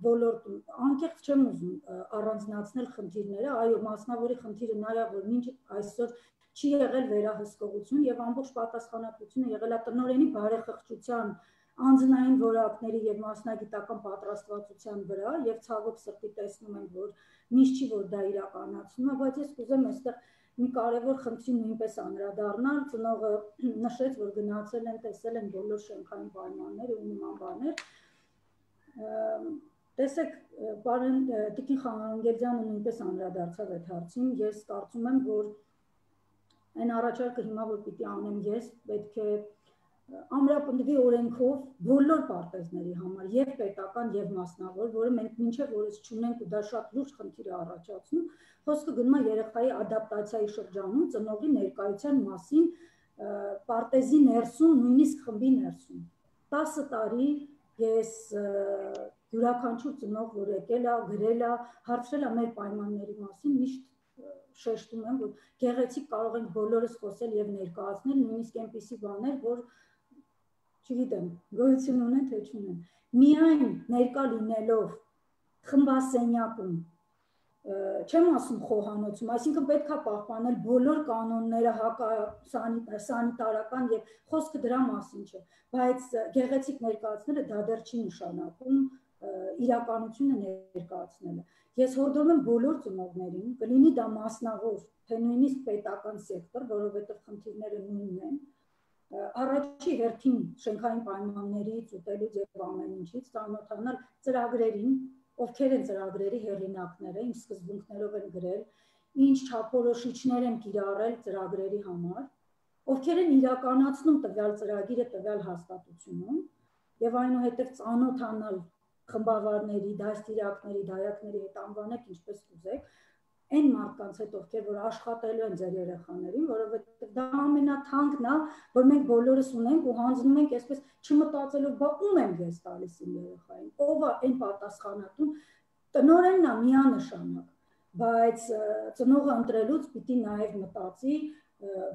ոլորտում։ Անկեղծ չեմ ուզում առանձնացնել խնդիրները, այո, մասնավորի խնդիրը նա է, որ մինչ այսօր չի եղել վերահսկողություն եւ ամբողջ պատասխանատվությունը եղել է տնօրենի բարեխղճության, անձնային որակների եւ մասնագիտական պատրաստվածության վրա եւ ցավոք սրտի տեսնում ենք, որ միշտ չի որ դա իրականացնում է, բայց ես կուզեմ այստեղ մի կարևոր խնդրի նույնպես անդրադառնալ, ծնողը նշեց, որ գնացել են, տեսել են բոլոր շենքային պայմանները ու նման բաներ։ Տեսեք, պարոն Տիկին Խանգերդյանը նույնպես անդրադարձավ այդ հարցին, ես կարծում եմ, որ այն առաջարկը հիմա որ պիտի անեմ ես, պետք է ամրապնդվի օրենքով բոլոր պարտեզների համար, եւ պետական եւ մասնավոր, որը մենք մինչեւ օրս չունենք ու դա շատ լուրջ խնդիր է առաջացնում, խոսքը գնում է երեխայի ադապտացիայի շրջանում ծնողի ներկայության մասին պարտեզի ներսում, նույնիսկ խմբի ներսում։ 10 տարի ես յուրաքանչյուր ծնող, որ եկել է, գրել է, հարցրել է մեր պայմանների մասին, միշտ շեշտում եմ, որ գեղեցիկ կարող ենք բոլորս խոսել եւ ներկայացնել նույնիսկ այնպիսի բաներ, որ չգիտեմ, գոյություն ունեն թե չունեն։ Միայն ներկա լինելով խմբասենյակում, չեմ ասում խոհանոցում, այսինքն պետք է պահպանել բոլոր կանոնները սանիտարական եւ խոսքը դրա մասին չէ, բայց գեղեցիկ ներկայացնելը դա դեռ չի նշանակում իրականությունը ներկայացնելը։ Ես հորդորում եմ բոլոր ծնողներին, կլինի դա մասնավոր, թե նույնիսկ պետական սեկտոր, որովհետև խնդիրները նույնն են, առաջի հերթին շենքային պայմաններից, ուտելուց եւ ամեն ինչից ծանոթանալ ծրագրերին, ովքեր են ծրագրերի հեղինակները, ինչ սկզբունքներով են գրել, ինչ չափորոշիչներ են կիրառել ծրագրերի համար, ովքեր են իրականացնում տվյալ ծրագիրը տվյալ հաստատությունում եւ այնուհետեւ ծանոթանալ խմբավարների, դաստիարակների, դայակների հետ անվանեք ինչպես կուզեք, այն մարդկանց հետ ովքեր որ աշխատելու են ձեր երեխաներին, որովհետեւ դա ամենաթանկն է, որ մենք բոլորս ունենք ու հանձնում ենք այսպես չմտածելով, բա ում եմ ես տալիս իմ երեխային, ով է այն պատասխանատուն, տնօրենն է միանշանակ, բայց ծնողը ընտրելուց պիտի նաև մտածի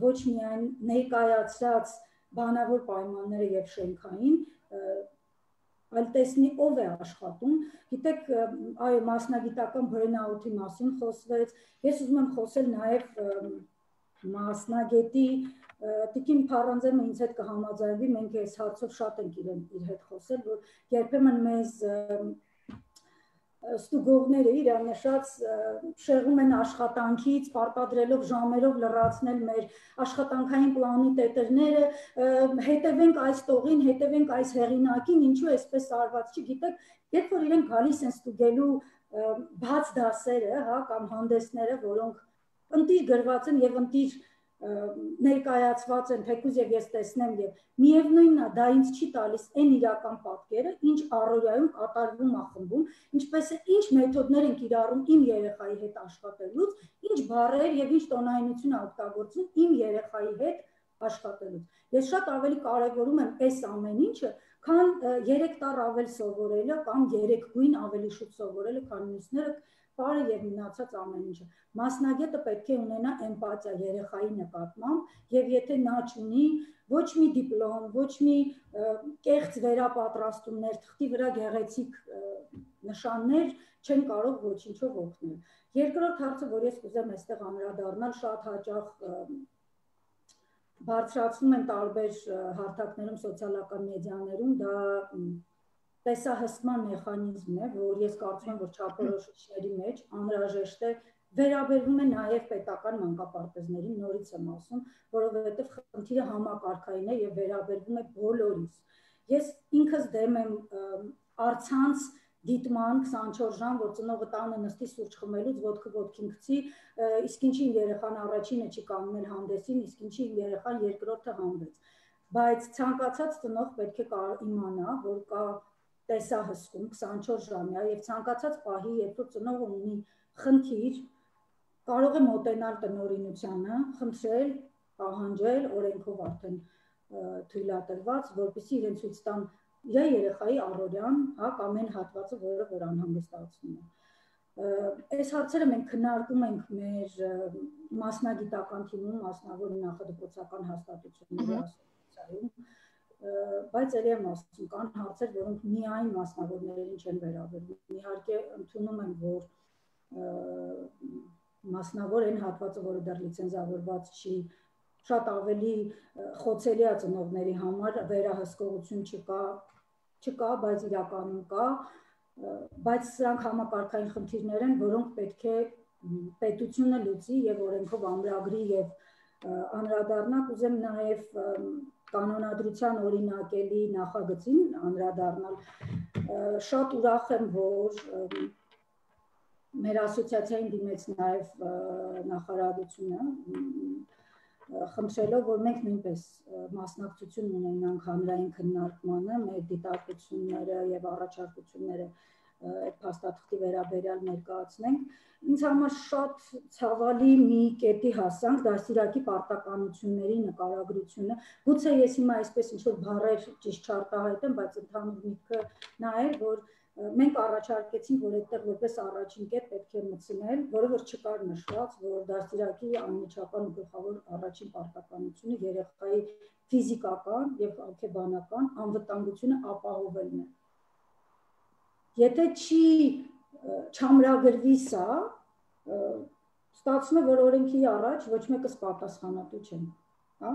ոչ միայն ներկայացած բանավոր պայմանները եւ շենքային, այլ տեսնի ով է աշխատում։ Գիտեք, այո, մասնագիտական բրենաութի մասին խոսվեց, ես ուզում եմ խոսել նաև մասնագետի Տիկին Փարանձյանը ինձ հետ կհամաձայնվի, մենք այս հարցով շատ ենք իր հետ խոսել, որ երբեմն մեզ ստուգողները իրար նշած շեղում են աշխատանքից, պարտադրելով ժամերով լրացնել մեր աշխատանքային պլանի տետրները, հետևենք այս տողին, հետևենք այս հեղինակին, ինչու այսպես արված չի, գիտեք, երբ որ իրենք գալիս են ստուգելու բաց դասերը, հա, կամ հանդեսները, որոնք ընտիր գրված են եւ ընտիր ներկայացված են, թեկուզ եւ ես տեսնեմ եւ միևնույնն է, դա ինձ չի տալիս այն իրական պատկերը, ինչ առօրյայում կատարվում է խմբում, ինչպես է ինչ մեթոդներ են կիրառում իմ երեխայի հետ աշխատելուց, ինչ բառեր եւ ինչ տոնայնություն է օգտագործում իմ երեխայի հետ աշխատելուց։ Ես շատ ավելի կարևորում եմ այս ամեն ինչը, քան 3 տառ ավել սովորելը կամ 3 գույն ավելի շուտ սովորելը, քան մյուսները Բարը եւ մնացած ամեն ինչը։ Մասնագետը պետք է ունենա էմպաթիա երեխայի նկատմամբ եւ եթե նա չունի ոչ մի դիպլոմ, ոչ մի կեղծ վերապատրաստումներ, թղթի վրա գեղեցիկ նշաններ չեն կարող ոչինչով օգնել։ Երկրորդ հարցը, որ ես կուզեմ այստեղ անդրադառնալ, շատ հաճախ բարձրացնում են տարբեր հարթակներում սոցիալական մեդիաներում, դա տեսահսկման մեխանիզմն է, որ ես կարծում եմ, որ չափորոշիչների մեջ անհրաժեշտ է վերաբերվում է նաև պետական մանկապարտեզներին, նորից եմ ասում, որովհետև խնդիրը համակարգային է եւ վերաբերվում է բոլորիս։ Ես ինքս դեմ եմ առցանց դիտման 24 ժամ, որ ծնողը տանը նստի սուրճ խմելուց ոտքը ոտքին գցի, իսկ ինչի իմ երեխան առաջինը չի կանգնել հանդեսին, իսկ ինչի իմ երեխան երկրորդը հանդես։ Բայց ցանկացած ծնող պետք է իմանա, որ կա տեսահսկում 24 ժամյա եւ ցանկացած պահի, երբ որ ծնողը ունի խնդիր, կարող է մոտենալ տնօրինությանը, խնդրել, պահանջել, օրենքով արդեն թույլատրված, որպեսզի իրեն ցույց տան իր երեխայի առօրյան, հա, կամ այն հատվածը, որը որ անհանգստացնում է։ Այս հարցերը մենք քննարկում ենք մեր մասնագիտական թիմում, մասնավոր նախադպրոցական հաստատությունների ասոցիացիայում, բայց ելի եմ ասում, կան հարցեր, որոնք միայն մասնավորներին չեն վերաբերվում։ Իհարկե ընդունում եմ, որ մասնավոր այն հատվածը, որը դեռ լիցենզավորված չի, շատ ավելի խոցելի է ծնողների համար, վերահսկողություն չկա, բայց իրականում կա, բայց սրանք համակարգային խնդիրներ են, որոնք պետք է պետությունը լուծի եւ օրենքով ամրագրի եւ անդրադառնա, կուզեմ նաեւ կանոնադրության օրինակելի նախագծին անդրադառնալ։ Շատ ուրախ եմ, որ մեր ասոցիացիային դիմեց նաև նախարարությունը, խնդրելով, որ մենք նույնպես մասնակցություն ունենանք հանրային քննարկմանը, մեր դիտարկությունները եւ առաջարկությունները այդ փաստաթղթի վերաբերյալ ներկայացնենք։ Ինձ համար շատ ցավալի մի կետի հասանք դաստիարակի պարտականությունների նկարագրությունը։ Գուցե ես հիմա այսպես ինչ-որ բառեր ճիշտ չարտահայտեմ, բայց ընդհանուր միտքը նա է, որ մենք առաջարկեցինք, որ այդտեղ որպես առաջին կետ պետք է մտցնել, որը որ չկար նշված, որ դաստիարակի անմիջական ու գլխավոր առաջին պարտականությունը երեխայի ֆիզիկական եւ հոգեբանական անվտանգությունը ապահովելն է։ Եթե չամրագրվի սա, ստացվում է, որ օրենքի առաջ ոչ մեկս պատասխանատու չեն, հա?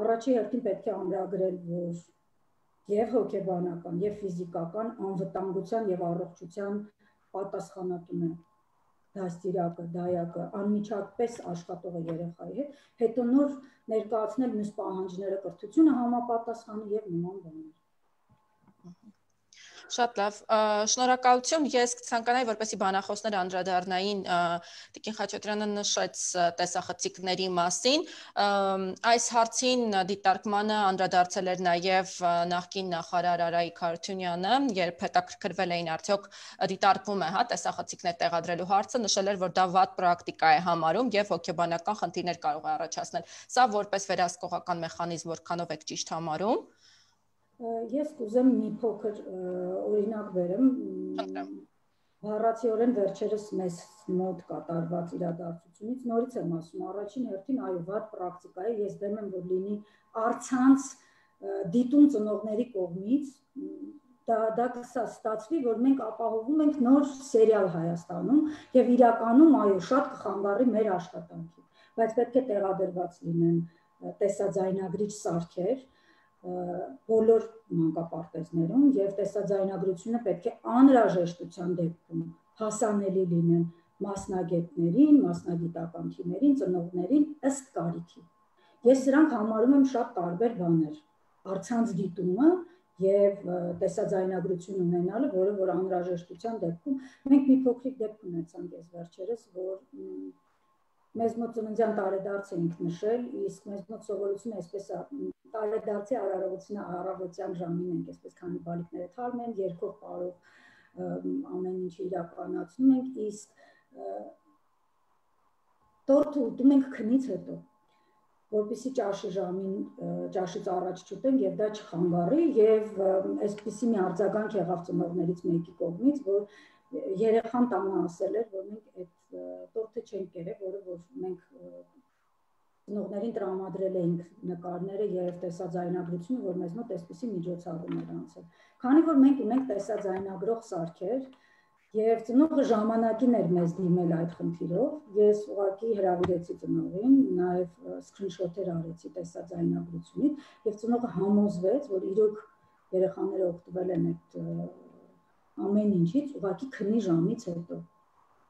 Առաջի հերթին պետք է ամրագրել, որ եւ հոգեբանական եւ ֆիզիկական անվտանգության եւ առողջության պատասխանատուն է դաստիարակը, դայակը, անմիջապես աշխատող երեխայի հետ, հետո նոր ներկայացնել մյուս պահանջները, կրթությունը համապատասխանի եւ նման բաներ։ Շատ լավ, շնորհակալություն, ես կցանկանայի, որպեսզի բանախոսները անդրադառնային Տիկին Խաչատրյանը նշեց տեսախցիկների մասին, այս հարցին դիտարկմանը անդրադարձել էր նաև նախկին նախարար Արայիկ Հարությունյանը, երբ հետաքրքրվել էին արդյոք դիտարկվում է, հա, տեսախցիկներ տեղադրելու հարցը, նշել էր, որ դա վատ պրակտիկա է համարում եւ հոգեբանական խնդիրներ կարող է առաջացնել։ Սա որպես վերահսկողական մեխանիզմ որքանով եք ճիշտ համարում։ Ես կուզեմ մի փոքր օրինակ բերեմ, բառացիորեն վերջերս մեզ մոտ կատարված իրադարձությունից նորից եմ ասում, առաջին հերթին այո, վատ պրակտիկա է, ես դեմ եմ, որ լինի առցանց դիտում ծնողների կողմից, դա կստացվի, որ մենք ապահովում ենք նոր սերիալ Հայաստանում եւ իրականում այո, շատ կխանգարի մեր աշխատանքին, բայց պետք է տեղադրված լինեն տեսաձայնագրիչ սարքեր բոլոր մանկապարտեզներում եւ տեսաձայնագրությունը պետք է անհրաժեշտության դեպքում հասանելի լինեն մասնագետներին, մասնագիտական թիմերին, ծնողներին ըստ կարիքի։ Ես սրանք համարում եմ շատ տարբեր բաներ, առցանց դիտումը եւ տեսաձայնագրություն ունենալը, որը որ անհրաժեշտության դեպքում մենք մի փոքրիկ դեպք ունեցանք ես վերջերս, որ մեզ մոտ ծննդյան տարեդարձ էինք նշել, իսկ մեզ մոտ սովորությունը այսպես է, տարեդարձի արարողությունը առավոտյան ժամին ենք այսպես քանի բալիկները թարմ են, երկով պարով ամեն ինչ իրականացնում ենք, իսկ տորթը ուտում ենք քնից հետո, որպեսզի ճաշից առաջ չուտենք եւ դա չխանգարի եւ այսպիսի մի արձագանք եղավ ծնողներից մեկի կողմից, որ երեխան տանը ասել էր, որ մենք այդ տորթը չենք կերել, որը որ մենք ծնողներին տրամադրել էինք նկարները եւ տեսաձայնագրությունը, որ մեզ մոտ այսպիսի միջոցառում էր անցել։ Քանի որ մենք ունենք տեսաձայնագրող սարքեր եւ ծնողը ժամանակին էր մեզ դիմել այդ խնդիրով, ես ուղղակի հրավիրեցի ծնողին, նաեւ սկրինշոթեր արեցի տեսաձայնագրությունից եւ ծնողը համոզվեց, որ իրոք երեխաները օգտվել են այդ ամեն ինչից, ուղղակի քնի ժամից հետո։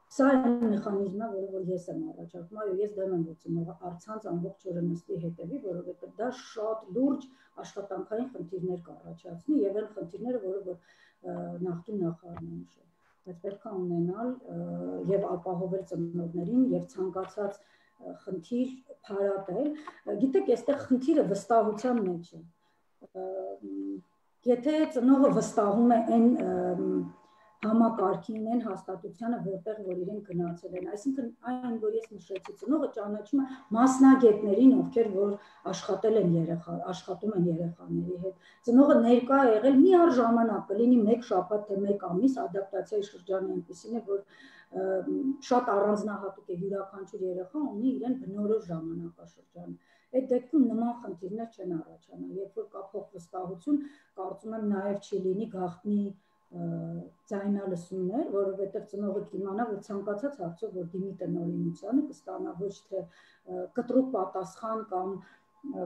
Սա այն մեխանիզմն է, որը ես եմ առաջարկում, այո, ես դեմ եմ, որ ծնողը առցանց ամբողջ օրը նստի հետևի, որովհետեւ դա շատ լուրջ աշխատանքային խնդիրներ կառաջացնի եւ այն խնդիրները, որը որ նախկին նախարարն է նշել, բայց պետք է ունենալ եւ ապահովել ծնողներին եւ ցանկացած խնդիր փարատել։ Գիտեք, այստեղ խնդիրը վստահության մեջ է։ Եթե ծնողը վստահում է այն համակարգին, այն հաստատությանը, որտեղ որ իրենք գնացել են, այսինքն այն, որ ես նշեցի, ծնողը ճանաչում է մասնագետներին, ովքեր որ աշխատում են երեխաների հետ։ Ծնողը ներկա է եղել մի առժամանակ, կլինի 1 շաբաթ թե 1 ամիս, ադապտացիայի շրջանը այնպեսին է, որ շատ առանձնահատուկ է, յուրաքանչյուր երեխա ունի իրեն բնորոշ ժամանակաշրջանը։ Այդ դեպքում նման խնդիրներ չեն առաջանա, երբ որ կա փոխվստահություն, կարծում եմ նաև չի լինի գաղտնի ձայնալսումներ, որովհետև ծնողը կիմանա, որ ցանկացած հարցով, որ դիմի տնօրինությանը, կստանա ոչ թե կտրուկ պատասխան կամ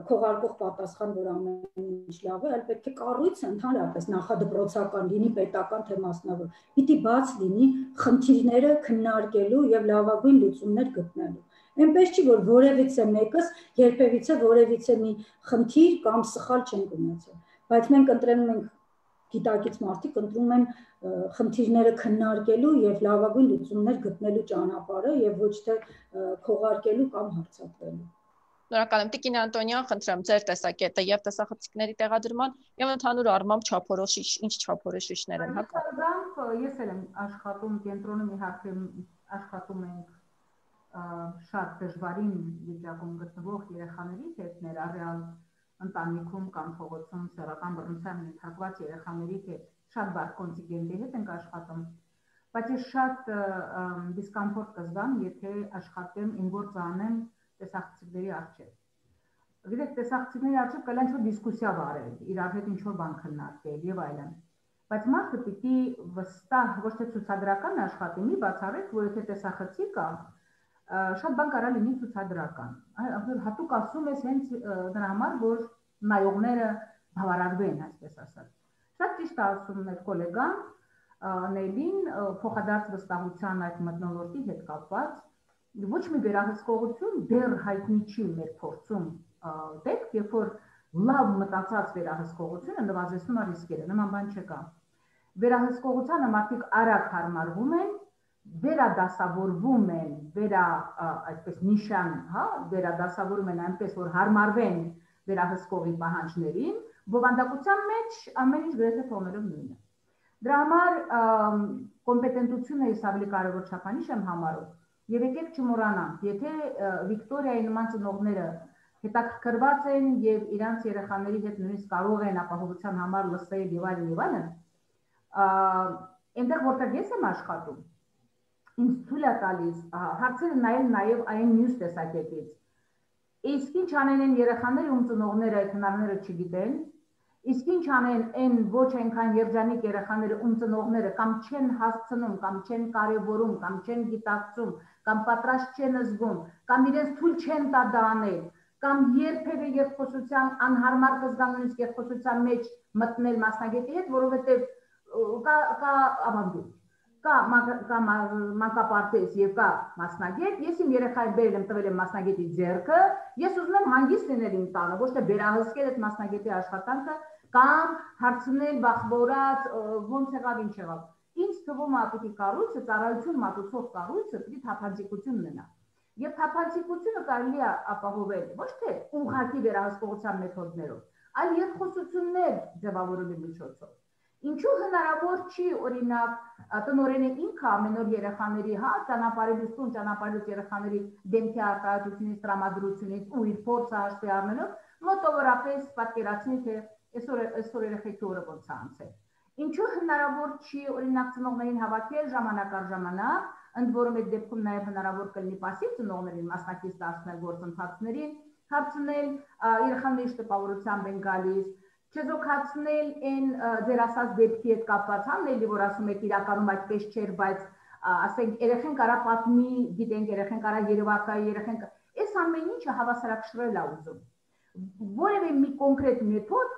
քողարկող պատասխան, որ ամեն ինչ լավ է, այլ պետք է կառույցը ընդհանրապես նախադպրոցական լինի, պետական թե մասնավոր, պիտի բաց լինի խնդիրները քննարկելու եւ լավագույն լուծումներ գտնելու։ Այնպես չի, որ որևիցե մեկս երբևիցե որևիցե մի խնդիր կամ սխալ չենք ունեցել, բայց մենք ընտրում ենք գիտակից մարդիկ ընտրում են խնդիրները քննարկելու եւ լավագույն լուծումներ գտնելու ճանապարհը եւ ոչ թե քողարկելու կամ հարձակվելու։ Շնորհակալ եմ Տիկին Անտոնյան, խնդրեմ ձեր տեսակետը եւ տեսախցիկների տեղադրման եւ ընդհանուր առմամբ չափորոշիչ, ինչ չափորոշիչներ են հակառակ։ Ես էլ եմ աշխատում կենտրոնում, իհարկե աշխատում ենք շատ դժվարին վիճակում գտնվող երեխաների հետ, ներառյալ ընտանիքում կամ փողոցում սեռական բռնության ենթարկված երեխաների հետ, շատ բարդ կոնտինգենտի հետ ենք աշխատում, բայց ես շատ դիսկոմֆորտ կզգամ, եթե աշխատեմ իմ գործը անեմ տեսախցիկների առջև։ Գիտեք, տեսախցիկների առջև կա ինչ-որ դիսկուսիա վարել, իրար հետ ինչ-որ բան քննարկել եւ այլն։ Բայց մարդը պիտի վստահ, ոչ թե ցուցադրական աշխատի, մի բացառեք, որ եթե տեսախցիկ կա, շատ բան կարա լինի ցուցադրական։ Հատուկ ասում ես հենց դրա համար, որ նայողները բավարարվեն, այսպես ասած։ Շատ ճիշտ ասում մեր գոլեգան Նելին փոխադարձ վստահության այդ մթնոլորտի հետ կապված ոչ մի վերահսկողություն դեռ հայտնի չի մեր փորձում դեպք, երբ որ լավ մտածած վերահսկողությունը նվազեցնում է ռիսկերը, նման բան չկա։ Վերահսկողությանը մարդիկ արագ հարմարվում են, վերադասավորվում են, այսպես նիշան, հա, վերադասավորում են այնպես, որ հարմարվեն վերահսկողի պահանջներին, բովանդակության մեջ ամեն ինչ գրեթե թողնելով նույնը։ Դրա համար կոմպետենտությունը ես ավելի կարևոր չափանիշ եմ համարում, եւ եկեք չմոռանանք, եթե Վիկտորիայի նման ծնողները հետաքրքրված են եւ իրանց երեխաների հետ նույնիսկ կարող են ապահովության համար լսել եւ այլն, Այնտեղ որտեղ ես եմ աշխատում, ինձ թույլ է տալիս հարցերը նայել նաև այն մյուս տեսակետից։ Իսկ ինչ անեն այն երեխաները, ում ծնողները այդ հնարները չգիտեն, իսկ ինչ անեն այն ոչ այնքան երջանիկ երեխաները, ում ծնողները կամ չեն հասցնում, կամ չեն կարևորում, կամ չեն գիտակցում, կամ պատրաստ չեն զգում, կամ իրենց թույլ չեն տա դա անել, կամ երբևէ երկխոսության անհարմար կզգան երկխոսության մեջ մտնել մասնագետի հետ, որովհետև կա ավանդույթ, կա մանկապարտեզ եւ կա մասնագետ, ես իմ երեխային բերել եմ, տվել եմ մասնագետի ձեռքը, ես ուզում եմ հանգիստ լինել իմ տանը, ոչ թե վերահսկել այդ մասնագետի աշխատանքը կամ հարցնել բախվորած ոնց եղավ, ինչ եղավ։ Ինձ թվում է պիտի կառույցը, ծառայություն մատուցող կառույցը պիտի թափանցիկություն ունենա։ Եվ թափանցիկությունը կարելի է ապահովել ոչ թե ուղղակի վերահսկողության մեթոդներով, այլ երկխոսություններ ձևավորելու միջոցով։ Ինչու հնարավոր չի, օրինակ, տնօրենը ինքը ամեն օր երեխաների, ճանապարհելուց տուն, ճանապարհելուց երեխաների դեմքի արտահայտությունից, տրամադրությունից ու իր փորձը հաշվի առնելով, մոտավորապես պատկերացնի, թե այսօր երեխեքի օրը ոնց է անցել։ Ինչու հնարավոր չի, օրինակ, ծնողներին հավաքել ժամանակ առ ժամանակ, ընդ որում այդ դեպքում նաև հնարավոր կլինի պասիվ ծնողներին մասնակից դարձնել գործընթացներին, հարցնել երեխաների տպավորությամբ են գալիս, չեզոքացնել այն ձեր ասած դեպքի հետ կապված, հանելի, որ ասում եք իրականում այդպես չէր, բայց ասենք երեխեն կարա պատմի, գիտենք, երեխեն կարա երևակա, երեխեն այս ամեն ինչը հավասարակշռել է ուզում։ Որևէ մի կոնկրետ մեթոդ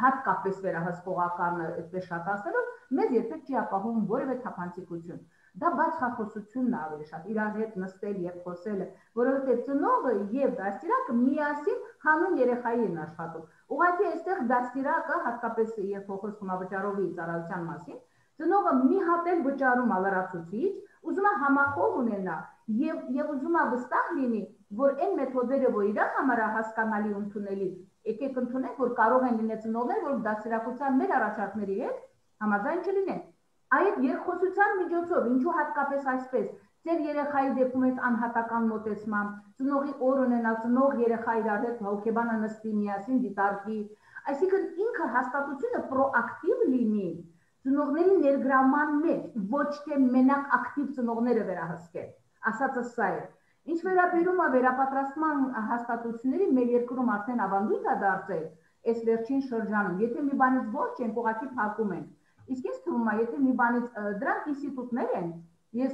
հատկապես վերահսկողականը այդպես շատ ասելով, մեզ երբեք չի ապահովում որևէ թափանցիկություն։ Դա բացախոսությունն է ավելի շատ, իրար հետ նստել եւ խոսելը, որովհետեւ ծնողը եւ դաստիարակը միասին հանուն երեխայի են աշխատում։ Ուղղակի այստեղ դաստիարակը, հատկապես երբ խոսում է վճարովի ծառայության մասին, ծնողը մի հատ էլ վճարում է լրացուցիչ, ուզում է համախոհ ունենա եւ ուզում է վստահ լինի, որ այն մեթոդները, որ իր համար հասկանալի ու ընդունելի, եկեք ընդունենք, որ կարող են լինել ծնողներ, որ դաստիարակության մեր առաջարկների հետ համաձայն չլինեն։ Այդ երկխոսության միջոցով, ինչու հատկապես այսպես, ձեր երեխայի դեպքում այս անհատական մոտեցմամբ, ծնողի օր ունենալ, ծնող երեխա իրար հետ հոգեբանը նստի միասին դիտարկի, այսինքն ինքը հաստատությունը պրոակտիվ լինի ծնողների ներգրավման մեջ, ոչ թե մենակ ակտիվ ծնողները վերահսկել, ասածը սա է։ Ինչ վերաբերում է վերապատրաստման հաստատությունների, մեր երկրում արդեն ավանդույթ է դարձել այս վերջին շրջանում, եթե մի բանից ոչ չենք, ուղղակի փակում են։ Իսկ ինձ թվում է, եթե մի բանից դրանք ինստիտուտներ են, ես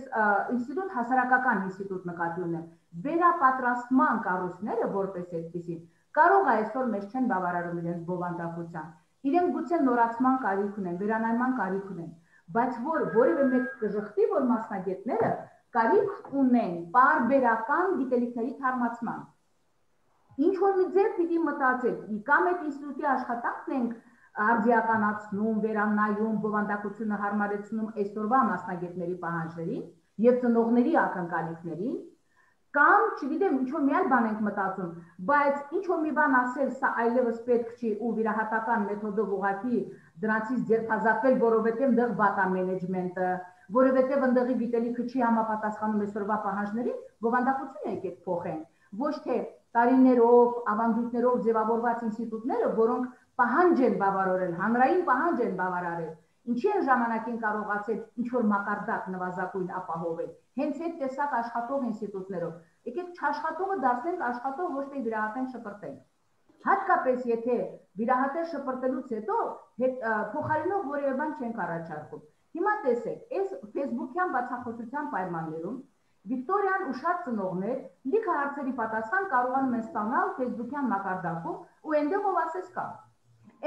ինստիտուտ հասարակական ինստիտուտ նկատի ունեմ, վերապատրաստման կառույցները որպես այդպիսին կարող է այսօր մեզ չեն բավարարում իրենց բովանդակության, իրենք գուցե նորացման կարիք ունեն, վերանայման կարիք ունեն, բայց որևէ մեկ կժխտի, որ մասնագետները կարիք ունեն պարբերական գիտելիքների թարմացման։ Ինչ որ մի ձև պիտի մտածել, կամ այդ ինստիտուտի աշխատանքն ենք արձիականացնում, վերանայում, բովանդակությունը հարմարեցնում այսօրվա մասնագետների պահանջներին եւ ծնողների ակնկալիքներին, կամ, չգիտեմ, ինչ-որ մի այլ բան ենք մտածում, բայց ինչ-որ մի բան ասել, սա այլևս պետք չի ու վիրահատական մեթոդով ուղղակի դրանցից ձերբազատվել, որովհետեւ դեռ վատ է մենեջմենտը, որովհետեւ ընդդեղի գիտելիքը չի համապատասխանում այսօրվա պահանջներին, բովանդակությունը եկեք փոխենք, ոչ թե տարիներով, ավանդույթներով ձևավորված ինստիտուտները, որոնք պահանջ են բավարարել, հանրային պահանջ են բավարարել, ինչի են ժամանակին կարողացել ինչ-որ մակարդակ նվազագույն ապահովել, հենց այդ տեսակ աշխատող ինստիտուտներով, եկեք չաշխատողը դարձնենք աշխատող, ոչ թե վիրահատենք շպրտենք, հատկապես եթե վիրահատել շպրտելուց հետո փոխարինող որևէ բան չենք առաջարկում, հիմա տեսեք, այս ֆեյսբուքյան բացախոսության պայմաններում Վիկտորիան ու շատ ծնողներ լիքը հարցերի պատասխան կարողանում են ստանալ ֆեյսբուքյան մակարդակում ու այնտեղ ով ասես կա։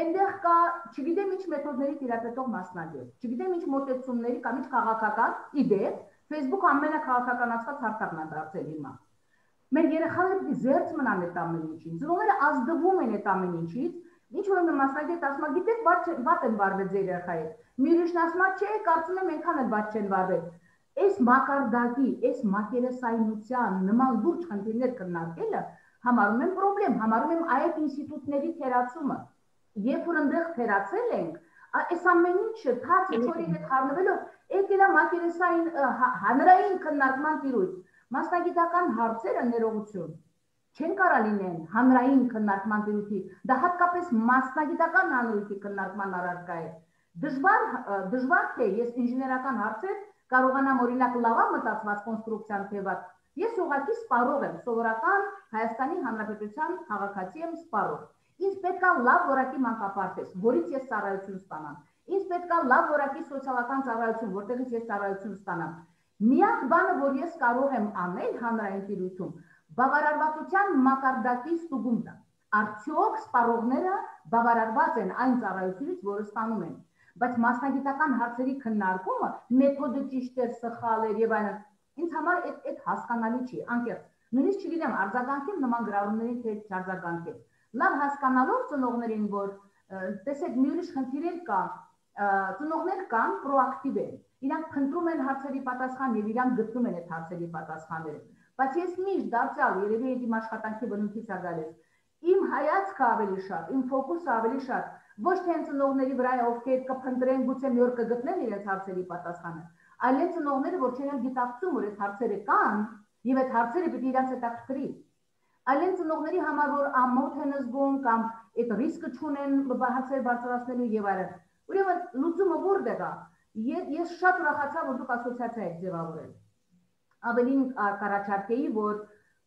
Այնտեղ կա, չգիտեմ ինչ մեթոդների տիրապետող մասնագետ, չգիտեմ ինչ մոտեցումների կամ ինչ քաղաքական իդեա, Facebook ամենակաղաքականացված հարթակն է դարձել հիմա։ Մեր երեխաները պիտի զերծ մնան այդ ամեն ինչից, ծնողները ազդվում են այդ ամեն ինչից, ինչ որ մի մասնագետ ասում է, գիտեք, վատ են վարվել ձեր երեխայի հետ։ Մի ուրիշն ասում է, չէ, կարծում եմ այնքան էլ վատ չեն վարվել։ Այս մակարդակի, այս մակերեսայնության նման լուրջ խնդիրներ քննարկելը համարում եմ պրոբլեմ, համարում եմ այդ ինստիտուտների թերացումը։ Երբ որ այնտեղ թերացել ենք, այս ամեն ինչը թաց չորի հետ խառնվելով, եկել է մակերեսային հանրային քննարկման տիրույթ։ Մասնագիտական հարցերը ներողություն չեն կարա լինեն հանրային քննարկման տիրույթի, դա հատկապես մասնագիտական հանրույթի քննարկման առարկա է։ Դժվար թե ես ինժեներական հարցեր կարողանամ օրինակ լավա մտածված կոնստրուկցիան թեված, ես ուղղակի սպառող եմ, սովորական Հայաստանի Հանրապետության քաղաքացի եմ սպառող։ Ինձ պետք է լավ որակի մանկապարտեզ, որից ես ծառայություն ստանամ։ Ինձ պետք է լավ որակի սոցիալական ծառայություն, որտեղից ես ծառայություն ստանամ։ Միակ բանը, որ ես կարող եմ անել հանրային տիրույթում, բավարարվածության մակարդակի ստուգումն է։ Արդյոք սպառողները բավարարված են այն ծառայությունից, որը ստանում են։ Բայց մասնագիտական հարցերի քննարկումը, մեթոդը ճիշտ է, սխալ է եւ այլն, ինձ համար այդ հասկանալի չի, անկեղծ։ Նույնիսկ չգիտեմ, արձագանքեմ նման գրառումներին թե չարձագանքեմ։ Լավ հասկանալով ծնողներին, որ տեսեք, մի ուրիշ խնդիր էլ կա, ծնողներ կան պրոակտիվ են։ Իրանք փնտրում են հարցերի պատասխան եւ իրանք գտնում են այդ հարցերի պատասխանները։ Բայց ես միշտ դարձյալ երևի այդ իմ աշխատանքի բնույթից է գալիս։ Իմ հայացքը ավելի շատ, իմ ֆոկուսը ավելի շատ ոչ թե ծնողների վրա է, ովքեր կփնտրեն, գուցե մի օր կգտնեն իրենց հարցերի պատասխանը, այլ այն ծնողները, որ չեն գիտակցում, որ այդ հարցերը կան եւ այդ հարցերը պետք է իրենց հետաքրքրի։ Այլ այն ծնողների համար, որ ամոթ են զգում կամ այդ ռիսկը չունեն հարցեր բարձրացնելու եւ այլն։ Ուրեմն լուծումը որտեղ է։ Ես շատ ուրախացա, որ դուք ասոցիացիա եք ձևավորել։ Ավելին կառաջարկեի, որ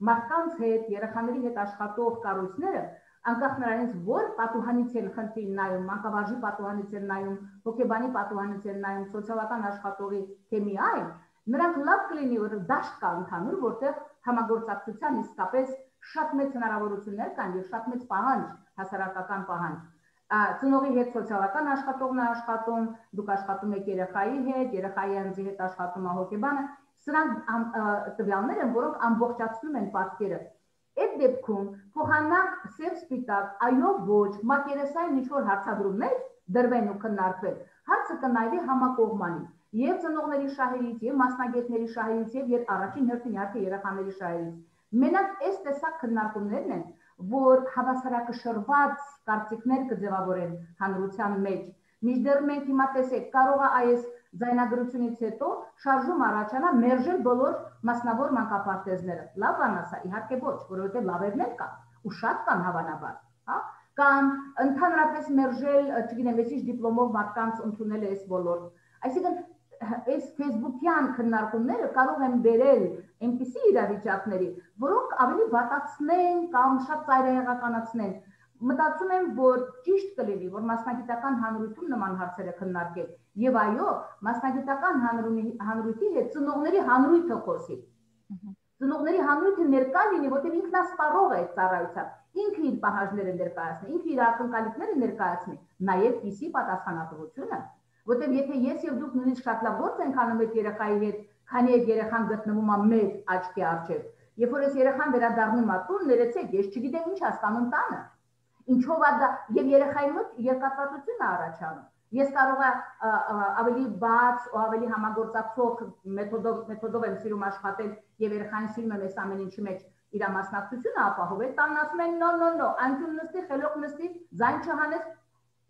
մարդկանց հետ, երեխաների հետ աշխատող կառույցները, անկախ նրանից, որ պատուհանից են խնդրին նայում, մանկավարժի պատուհանից են նայում, հոգեբանի պատուհանից են նայում, սոցիալական աշխատողի թեմի այլ, նրանք լավ կլինի, որ դաշտ կա ընդհանուր, որտեղ համագործակցության իսկապես շատ մեծ հնարավորություններ կան եւ շատ մեծ պահանջ, հասարակական պահանջ։ Ծնողի հետ սոցիալական աշխատողն է աշխատում, դուք աշխատում եք երեխայի հետ, երեխայի անձի հետ աշխատում է հոգեբանը, սրանք տվյալներ են, որոնք ամբողջացնում են պատկերը։ Այդ դեպքում փոխանակ սև սպիտակ, այո ոչ, մակերեսային ինչ-որ հարցադրումներ դրվեն ու քննարկվեն, հարցը կնայվի համակողմանի եւ ծնողների շահերից, եւ մասնագետների շահերից, եւ առաջին հերթին իհարկե երեխաների շահերից։ Մենակ այս տեսակ քննարկումներն են, որ հավասարակշռված կարծիքներ կձևավորեն հանրության մեջ։ Մինչդեռ մենք հիմա տեսեք, կարող է այս ձայնագրությունից հետո շարժում առաջանա մերժել բոլոր մասնավոր մանկապարտեզները։ Լավ բան ասա, իհարկե ոչ, որովհետև լավերներ կան ու շատ կան հավանաբար, հա? Կամ ընդհանրապես մերժել, չգիտեմ, ինչ դիպլոմով մարդկանց ընդունել այս ոլորտ։ Այսինքն այս Facebook-յան քննարկումները կարող են բերել այնպիսի իրավիճակների, որոնք ավելի վատացնեն կամ շատ ծայրահեղականացնեն։ Մտածում եմ, որ ճիշտ կլինի, որ մասնագիտական հանրությունում նման հարցերը քննարկել եւ այո, մասնագիտական հանրույթի հետ ծնողների հանրույթը խոսի։ Ծնողների հանրույթը ներկա լինի, որտեղ ինքն ասպառող է այդ ծառայության, ինքը իր պահանջները ներկայացնի, ինքը իր ակնկալիքները ներկայացնի, նաեւ կիսի պատասխանատվությունը, որտեղ եթե ես եւ դուք նույնիսկ շատ լավ գործ ենք անում այդ երեխայի հետ, քանի այդ երեխան գտնվում է մեր աչքի առջև, երբ որ այս երեխան վերադառնում է տուն, ներեցեք, ես չգիտեմ ինչ հասկանում տանը։ Ինչով է դա եւ երեխայի մոտ երկաթվածություն է առաջանում։ Ես կարող եմ ավելի բաց ու ավելի համագործակցող մեթոդով եմ սիրում աշխատել եւ երեխային սիրում եմ այս ամեն ինչի մեջ իր մասնակցությունը ապահովել, տանն ասում են նո, անկյուն նստի, խելոք նստի, ձայն չհանես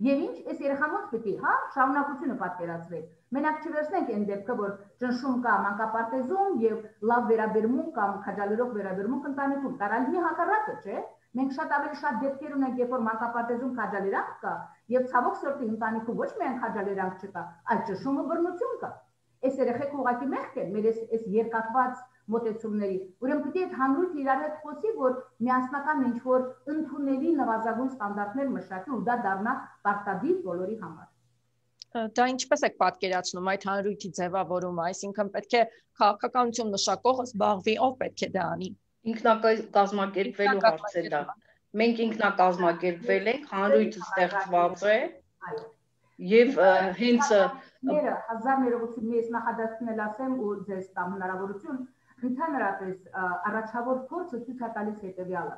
եւ ինչ, այս երեխան ոնց պիտի, հա, շարունակությունը պատկերացրել։ Մենակ չվերցնենք այն դեպքը, որ ճնշում կա մանկապարտեզում եւ լավ վերաբերմունք կամ քաջալերող վերաբերմունք ընտանիքում, կարալ մի հակառակը, չէ՞։ Մենք շատ ավելի շատ դեպքեր ունենք, երբ որ մանկապարտեզում քաջալերանք կա, եւ ցավոք սրտի ընտանիքում ոչ միայն քաջալերանք չկա, այլ ճշումը բռնություն կա։ Այս երեխեք ուղղակի մեղք են մեր այս երկաթված մոտեցումների։ Ուրեմն պետք է այդ հանրույթը իրար հետ խոսի, որ միասնական ինչ-որ ընդունելի նվազագույն ստանդարտներ մշակի ու դա դառնա պարտադիր բոլորի համար։ Դա ինչպես եք պատկերացնում այդ հանրույթի ձևավորումը, այսինքն պետք է քաղաքականություն մշակողը զբաղվի, ով պետք է դա անի։ Ինքնակազմակերպվելու հարցը դա։ Մենք ինքնակազմակերպվել ենք, հանրույթը ստեղծված է եւ հենց 1000 ներողություն ես նախադասությունել ասեմ ու ձեզ տամ հնարավորություն ընդհանրապես առաջավոր փորձը ցույց է տալիս հետեւյալը։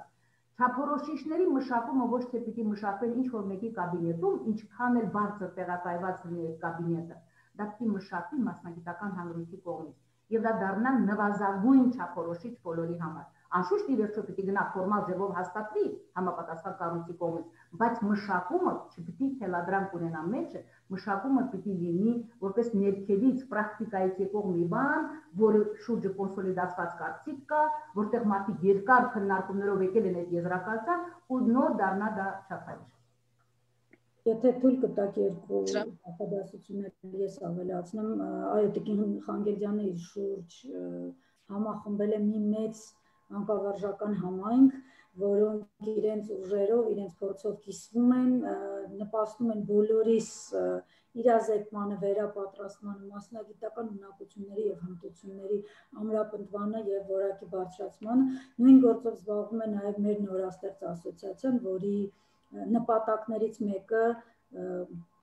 Չափորոշիչների մշակումը ոչ թե պիտի մշակվեն ինչ-որ մեկի կաբինետում, ինչքան էլ բարձր տեղակայված լինի այդ կաբինետը, դա պիտի մշակվի մասնագիտական հանրույթի կողմից եւ դա դառնա նվազագույն չափորոշիչ բոլորի համար։ Անշուշտ ի վերջո պիտի գնա ֆորմալ ձևով հաստատվի համապատասխան կառույցի կողմից, բայց մշակումը չպիտի թելադրանք ունենա մեջը, մշակումը պիտի լինի որպես ներքևից պրակտիկայից եկող մի բան, որը շուրջը կոնսոլիդացված կարծիք կա, որտեղ մարդիկ երկար քննարկումներով եկել են այդ եզրակացության ու նոր դառնա դա չափանիշ։ Եթե թույլ կտակ երկու նախադասություններ ես ավելացնեմ, այո, Տիկին Խանգերդյանը իր շուրջ համախմբել է մի մեծ անկավարժական համայնք, որոնք իրենց ուժերով, իրենց փորձով կիսվում են, նպաստում են բոլորիս իրազեկմանը, վերապատրաստմանը, մասնագիտական ունակությունների եւ հմտությունների ամրապնդմանը եւ որակի բարձրացմանը, նույն գործով զբաղվում է նաեւ մեր նորաստեղծ ասոցիացիան, որի նպատակներից մեկը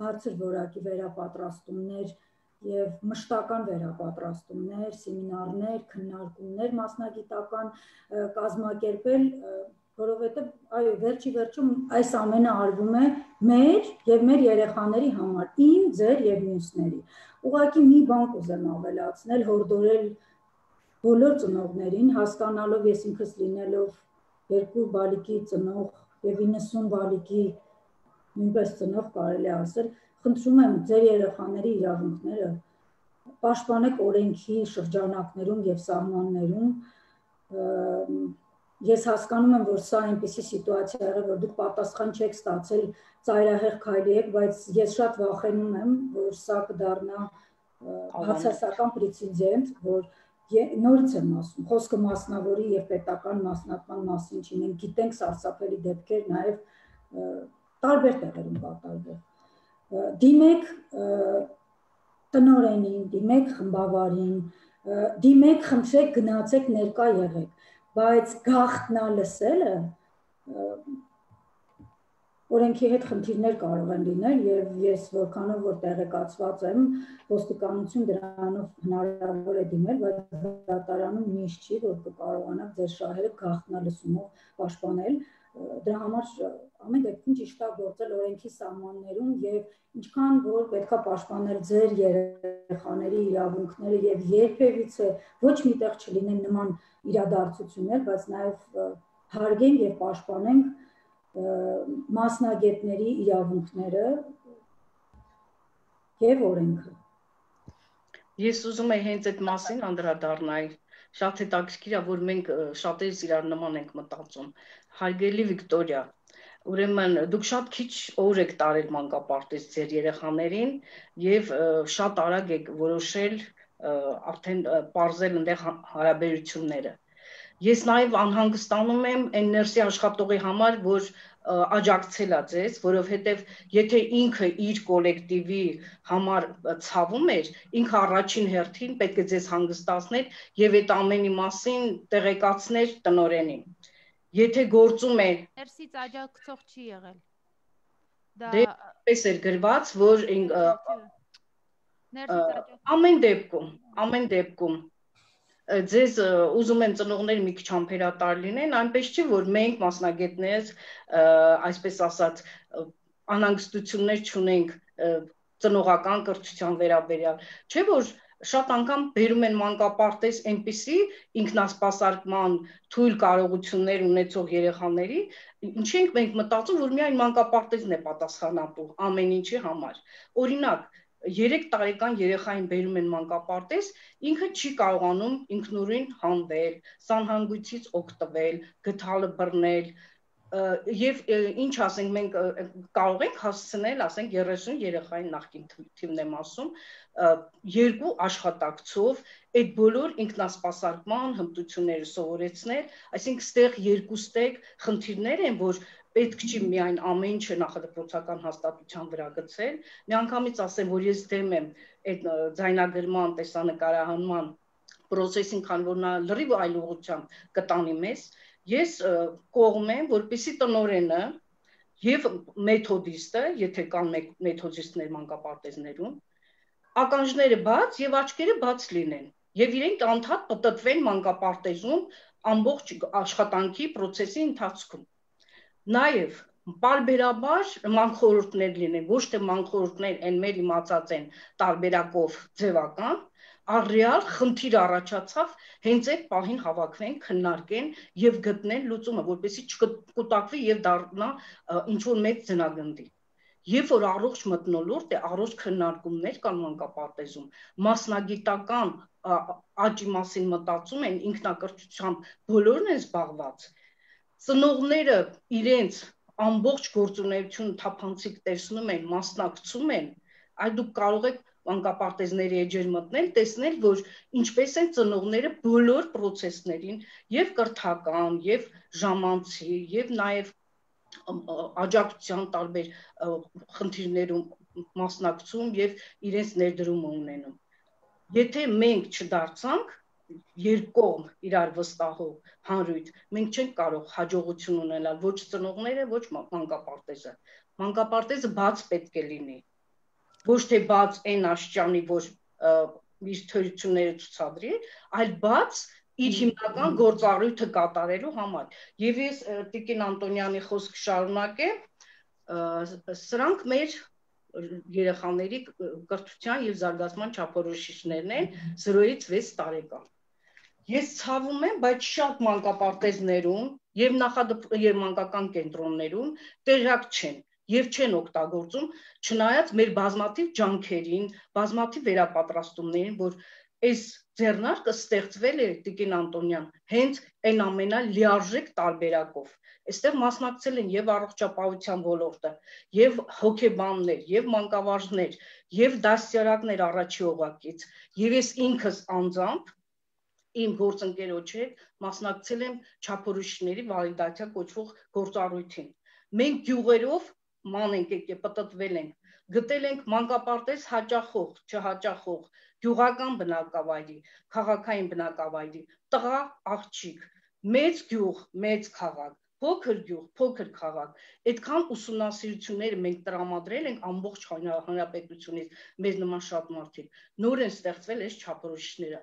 բարձր որակի վերապատրաստումներ եւ մշտական վերապատրաստումներ, սեմինարներ, քննարկումներ մասնագիտական կազմակերպել, որովհետեւ այո, վերջի վերջում այս ամենը արվում է մեր եւ մեր երեխաների համար, իմ, ձեր եւ մյուսների։ Ուղղակի մի բան կուզեմ ավելացնել, հորդորել բոլոր ծնողներին, հասկանալով ես ինքս լինելով 2 բալիկի ծնող եւ 90 բալիկի նույնպես ծնող կարելի ասել, խնդրում եմ ձեր երեխաների իրավունքները պաշտպանեք օրենքի շրջանակներում եւ սահմաններում։ Ես հասկանում եմ, որ սա այնպիսի սիտուացիա է եղել, որ դուք պատասխան չեք ստացել, ծայրահեղ քայլի եք, բայց ես շատ վախենում եմ, որ սա կդառնա բացասական պրեցեդենտ, որ նորից եմ ասում, խոսքը մասնավորի եւ պետական մասնատման մասին չի, մենք գիտենք սարսափելի դեպքեր նաեւ տարբեր տեղերում կատարվող։ Դիմեք տնօրենին, դիմեք խմբավարին, դիմեք, խնդրեք, գնացեք, ներկա եղեք, բայց գաղտնա լսելը օրենքի հետ խնդիրներ կարող են լինել եւ ես որքանով որ տեղեկացված եմ, ոստիկանություն դրանով հնարավոր է դիմել, բայց դատարանում միշտ չի, որ կկարողանաք ձեր շահերը գաղտնալսումով պաշտպանել։ Դրա համար ամեն դեպքում ճիշտ է գործել օրենքի սահմաններում եւ ինչքան որ պետքա պաշտպանել ձեր երեխաների իրավունքները եւ երբևիցե ոչ միտեղ չլինեն նման իրադարձություններ, բայց նաեւ հարգենք եւ պաշտպանենք մասնագետների իրավունքները եւ օրենքը։ Ես ուզում եմ հենց այդ մասին անդրադառնալ։ Շատ հետաքրքիր է, որ մենք շատերս իրար նման ենք մտածում։ Հարգելի Վիկտորիա, ուրեմն դուք շատ քիչ օր եք տարել մանկապարտեզ ձեր երեխաներին եւ շատ արագ եք որոշել արդեն պարզել այնտեղ հարաբերությունները։ Ես նաև անհանգստանում եմ այն ներսի աշխատողի համար, որ աջակցել է ձեզ, որովհետև եթե ինքը իր կոլեկտիվի համար ցավում էր, ինքը առաջին հերթին պետք է ձեզ հանգստացներ եւ այդ ամենի մասին տեղեկացներ տնօրենին։ Եթե գործում է ներսից աջակցող չի եղել։ Դա պես էր գրված, որ ամեն դեպքում ձեզ ուզում են ծնողները մի քիչ համբերատար լինեն, այնպես չի, որ մենք մասնագետներ, այսպես ասած, անհանգստություններ չունենք ծնողական կրթության վերաբերյալ, չէ՞ որ շատ անգամ բերում են մանկապարտեզ այնպիսի ինքնասպասարկման թույլ կարողություններ ունեցող երեխաների, ինչի ենք մենք մտածում, որ միայն մանկապարտեզն է պատասխանատու ամեն ինչի համար։ Օրինակ 3 տարեկան երեխային բերում են մանկապարտեզ, ինքը չի կարողանում ինքնուրույն հանվել, սանհանգույցից օգտվել, գդալը բռնել, եւ ինչ ասենք մենք կարող ենք հասցնել, ասենք 30 երեխային նախկին թիվն եմ ասում, 2 աշխատակցով այդ բոլոր ինքնասպասարկման հմտությունները սովորեցնել, այսինքն ստեղ երկուստեք խնդիրներ են, որ պետք չի միայն ամեն ինչը նախադպրոցական հաստատության վրա գցել, միանգամից ասեմ, որ ես դեմ եմ այդ ձայնագրման, տեսանկարահանման process-ին, քանի որ նա լրիվ այլ ուղղությամբ կտանի մեզ, ես կողմ եմ, որպեսզի տնօրենը եւ մեթոդիստը, եթե կան մեթոդիստներ մանկապարտեզներում, ականջները բաց եւ աչքերը բաց լինեն եւ իրենք անդադ պտտվեն մանկապարտեզում ամբողջ աշխատանքի process-ի ընթացքում։ Նաև պարբերաբար մանխորհուրդներ լինեն, ոչ թե մանխորհուրդներ են մեր իմացած են տարբերակով ձևական, առեալ խնդիր առաջացավ, հենց այդ պահին հավաքվեն, քննարկեն եւ գտնեն լուծումը, որպեսզի չկուտակվի եւ դառնա ինչ-որ մեծ ձնագնդի։ Երբ որ առողջ մթնոլորտ է, առողջ քննարկումներ կան մանկապարտեզում, մասնագիտական աճի մասին մտածում են, ինքնակրթությամբ բոլորն են զբաղված, ծնողները իրենց ամբողջ գործունեությունը թափանցիկ տեսնում են, մասնակցում են, այդ դուք կարող եք մանկապարտեզների էջեր մտնել, տեսնել, որ ինչպես են ծնողները բոլոր process-ներին, եւ կրթական, եւ ժամանցի, եւ նաեւ աջակցության տարբեր խնդիրներում մասնակցում եւ իրենց ներդրումը ունենում։ Եթե մենք չդարձանք երկկողմ իրար վստահող հանրույթ, մենք չենք կարող հաջողություն ունենալ ոչ ծնողները, ոչ մանկապարտեզը։ Մանկապարտեզը բաց պետք է լինի։ Ոչ թե բաց այն աշճանի, որ իր թերությունները ցուցադրի, այլ բաց իր հիմնական գործառույթը կատարելու համար։ Եվ ես Տիկին Անտոնյանի խոսքը շարունակեմ, սրանք մեր երեխաների կրթության եւ զարգացման չափորոշիչներն են 0-ից 6 տարեկան։ Ես ցավում եմ, բայց շատ մանկապարտեզներում եւ մանկական կենտրոններում տեղյակ չեն եւ չեն օգտագործում, չնայած մեր բազմաթիվ ջանքերին, բազմաթիվ վերապատրաստումներին, որ այս ձեռնարկը ստեղծվել է Տիկին Անտոնյան հենց այն ամենալիարժեք տարբերակով։ Այստեղ մասնակցել են եւ առողջապահության ոլորտը, եւ հոգեբաններ, եւ մանկավարժներ, եւ դասյարակներ առաջի օղակից, եւ ես ինքս անձամբ իմ գործընկերոջ հետ մասնակցել եմ չափորոշիչների վալիդացիա կոչվող գործառույթին։ Մենք գյուղերով ման ենք եկել, պտտվել ենք, գտել ենք մանկապարտեզ հաճախող, չհաճախող, գյուղական բնակավայրի, քաղաքային բնակավայրի, տղա, աղջիկ, մեծ գյուղ, մեծ քաղաք, փոքր գյուղ, փոքր քաղաք, այդքան ուսումնասիրությունները մենք տրամադրել ենք ամբողջ հանրապետությունից, մեզ նման շատ մարդիկ, նոր են ստեղծվել այս չափորոշիչները։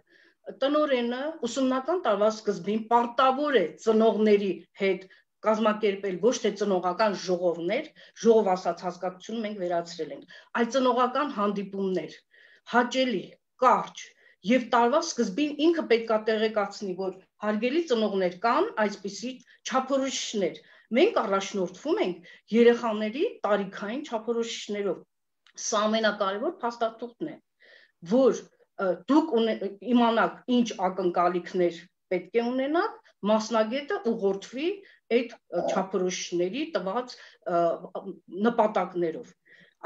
Տնօրենը ուսումնական տարվա սկզբին պարտավոր է ծնողների հետ կազմակերպել ոչ թե ծնողական ժողովներ, ժողով ասած հասկացություն մենք վերացրել ենք, այլ ծնողական հանդիպումներ, հաճելի, կարճ, եւ տարվա սկզբին ինքը պետք է տեղեկացնի, որ հարգելի ծնողներ կան այսպիսի չափորոշիչներ։ Մենք առաջնորդվում ենք երեխաների տարիքային չափորոշիչներով։ Սա ամենակարևոր փաստաթուղթն է, որ դուք իմանաք ինչ ակնկալիքներ պետք է ունենաք, մասնագետը ուղղորդվի այդ չափորոշիչների տված նպատակներով։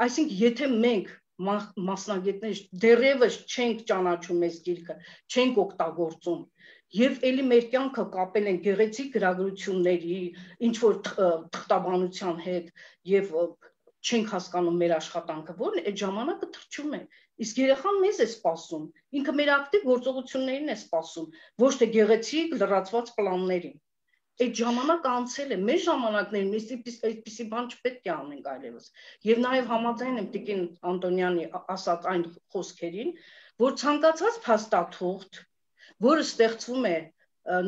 Այսինքն, եթե մենք մասնագետներ դեռևս չենք ճանաչում այս գիրքը, չենք օգտագործում, եւ ելի մեր կյանքը կապել են գեղեցիկ գրագրությունների, ինչ որ թղթաբանության հետ եւ չենք հասկանում մեր աշխատանքը, որն է, այդ ժամանակը թրջում է։ Իսկ երեխան մեզ է սպասում, ինքը մեր ակտիվ գործողություններին է սպասում, ոչ թե գեղեցիկ լրացված պլաններին։ Այդ ժամանակը անցել է, մեր ժամանակներում այդպիսի բան չպետք է անենք այլևս։ Եվ նաև համաձայն եմ Տիկին Անտոնյանի ասած այն խոսքերին, որ ցանկացած փաստաթուղթ, որը ստեղծվում է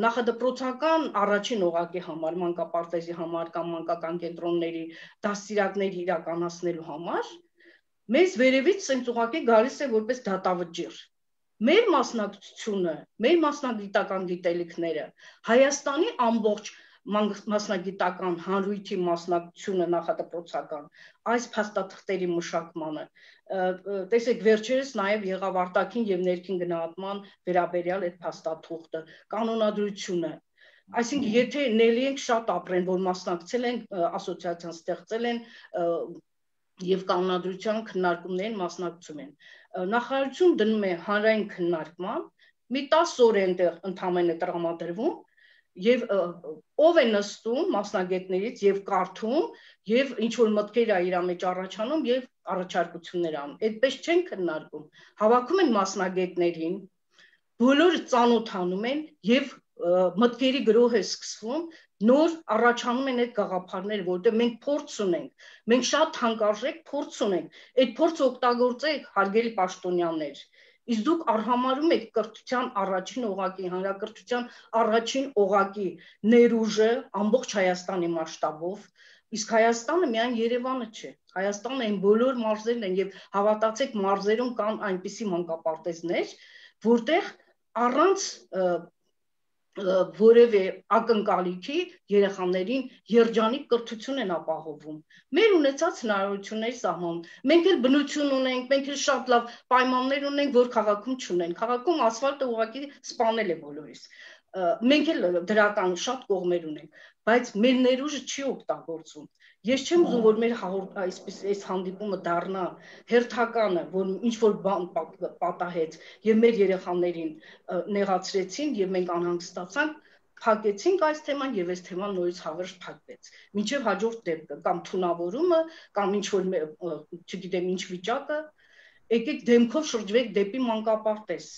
նախադպրոցական առաջին օղակի համար, մանկապարտեզի համար կամ մանկական կենտրոնների դաստիարակների իրականացնելու համար, մեզ վերևից սենց ուղղակի գալիս է որպես դատավճիռ։ Մեր մասնակցությունը, մեր մասնագիտական գիտելիքները, Հայաստանի ամբողջ մասնագիտական հանրույթի մասնակցությունը նախադպրոցական, այս փաստաթղթերի մշակմանը, տեսեք վերջերս նաև եղավ արտաքին եւ ներքին գնահատման վերաբերյալ այդ փաստաթուղթը, կանոնադրությունը, այսինքն եթե նելի ենք շատ ապրեն, որ մասնակցել են ասոցիացիան, ստեղծել են եւ կանոնադրության քննարկումներին մասնակցում են։ Նախարարություն դնում է հանրային քննարկման, մի 10 օր այնտեղ ընդամենը տրամադրվում եւ ով է նստում մասնագետներից եւ կարդում եւ ինչ որ մտքեր է իր մեջ առաջանում եւ առաջարկություններ անում։ Այդպես չեն քննարկում։ Հավաքում են մասնագետներին, բոլորը ծանոթանում են եւ մտքերի գրոհ է սկսվում, նոր առաջանում են այդ գաղափարները, որտեղ մենք փորձ ունենք, մենք շատ թանկարժեք փորձ ունենք, այդ փորձը օգտագործեք, հարգելի պաշտոնյաներ, իսկ դուք արհամարում եք կրթության առաջին օղակի, հանրակրթության առաջին օղակի ներուժը ամբողջ Հայաստանի մասշտաբով, իսկ Հայաստանը միայն Երևանը չէ, Հայաստանը այն բոլոր մարզերն են եւ հավատացեք մարզերում կան այնպիսի մանկապարտեզներ, որտեղ առանց որևէ ակնկալիքի երեխաներին երջանիկ կրթություն են ապահովում։ Մեր ունեցած հնարավորությունների սահմանում, մենք էլ բնություն ունենք, մենք էլ շատ լավ պայմաններ ունենք, որ քաղաքում չունեն։ Քաղաքում ասֆալտը ուղղակի սպանել է բոլորիս։ Մենք էլ դրական շատ կողմեր ունենք, բայց մեր ներուժը չի օգտագործվում։ Ես չեմ ուզում, որ մեր այսպես այս հանդիպումը դառնա հերթականը, որ ինչ որ բան պատահեց եւ մեր երեխաներին նեղացրեցին եւ մենք անհանգստացանք, փակեցինք այս թեման եւ այս թեման նորից հավերժ փակվեց։ Մինչեւ հաջորդ դեպքը կամ թունավորումը, կամ ինչ որ չգիտեմ ինչ վիճակը, եկեք դեմքով շրջվեք դեպի մանկապարտեզ։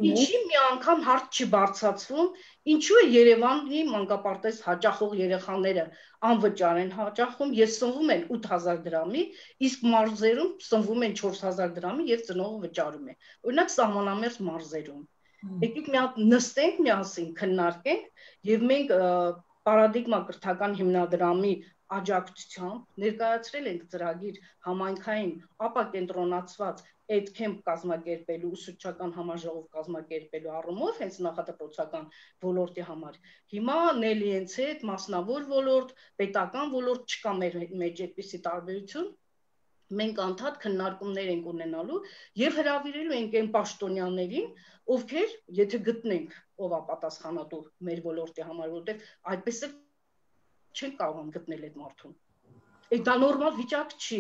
Ինչի մի անգամ հարց չի բարձրացվում, ինչու է Երևանի մանկապարտեզ հաճախող երեխաները անվճար են հաճախում, ես սնվում են 8000 դրամի, իսկ մարզերում սնվում են 4000 դրամի եւ ծնողը վճարում է։ Օրինակ սահմանամերձ մարզերում։ Եկեք մի հատ նստենք միասին, քննարկենք եւ մենք պարադիգմա կրթական հիմնադրամի աջակցությամբ ներկայացրել ենք ծրագիր համայնքային ապակենտրոնացված Edcamp կազմակերպելու, ուսուցչական համաժողով կազմակերպելու առումով հենց նախադպրոցական ոլորտի համար։ Հիմա Նելիենց հետ մասնավոր ոլորտ, պետական ոլորտ չկա մեր մեջ այդպիսի տարբերություն։ Մենք անդադ քննարկումներ ենք ունենալու եւ հրավիրելու ենք այն պաշտոնյաներին, ովքեր, եթե գտնենք ով է պատասխանատու մեր ոլորտի համար, որտեղ այդպես է չեն կարող գտնել այդ մարդուն։ Դա նորմալ վիճակ չի,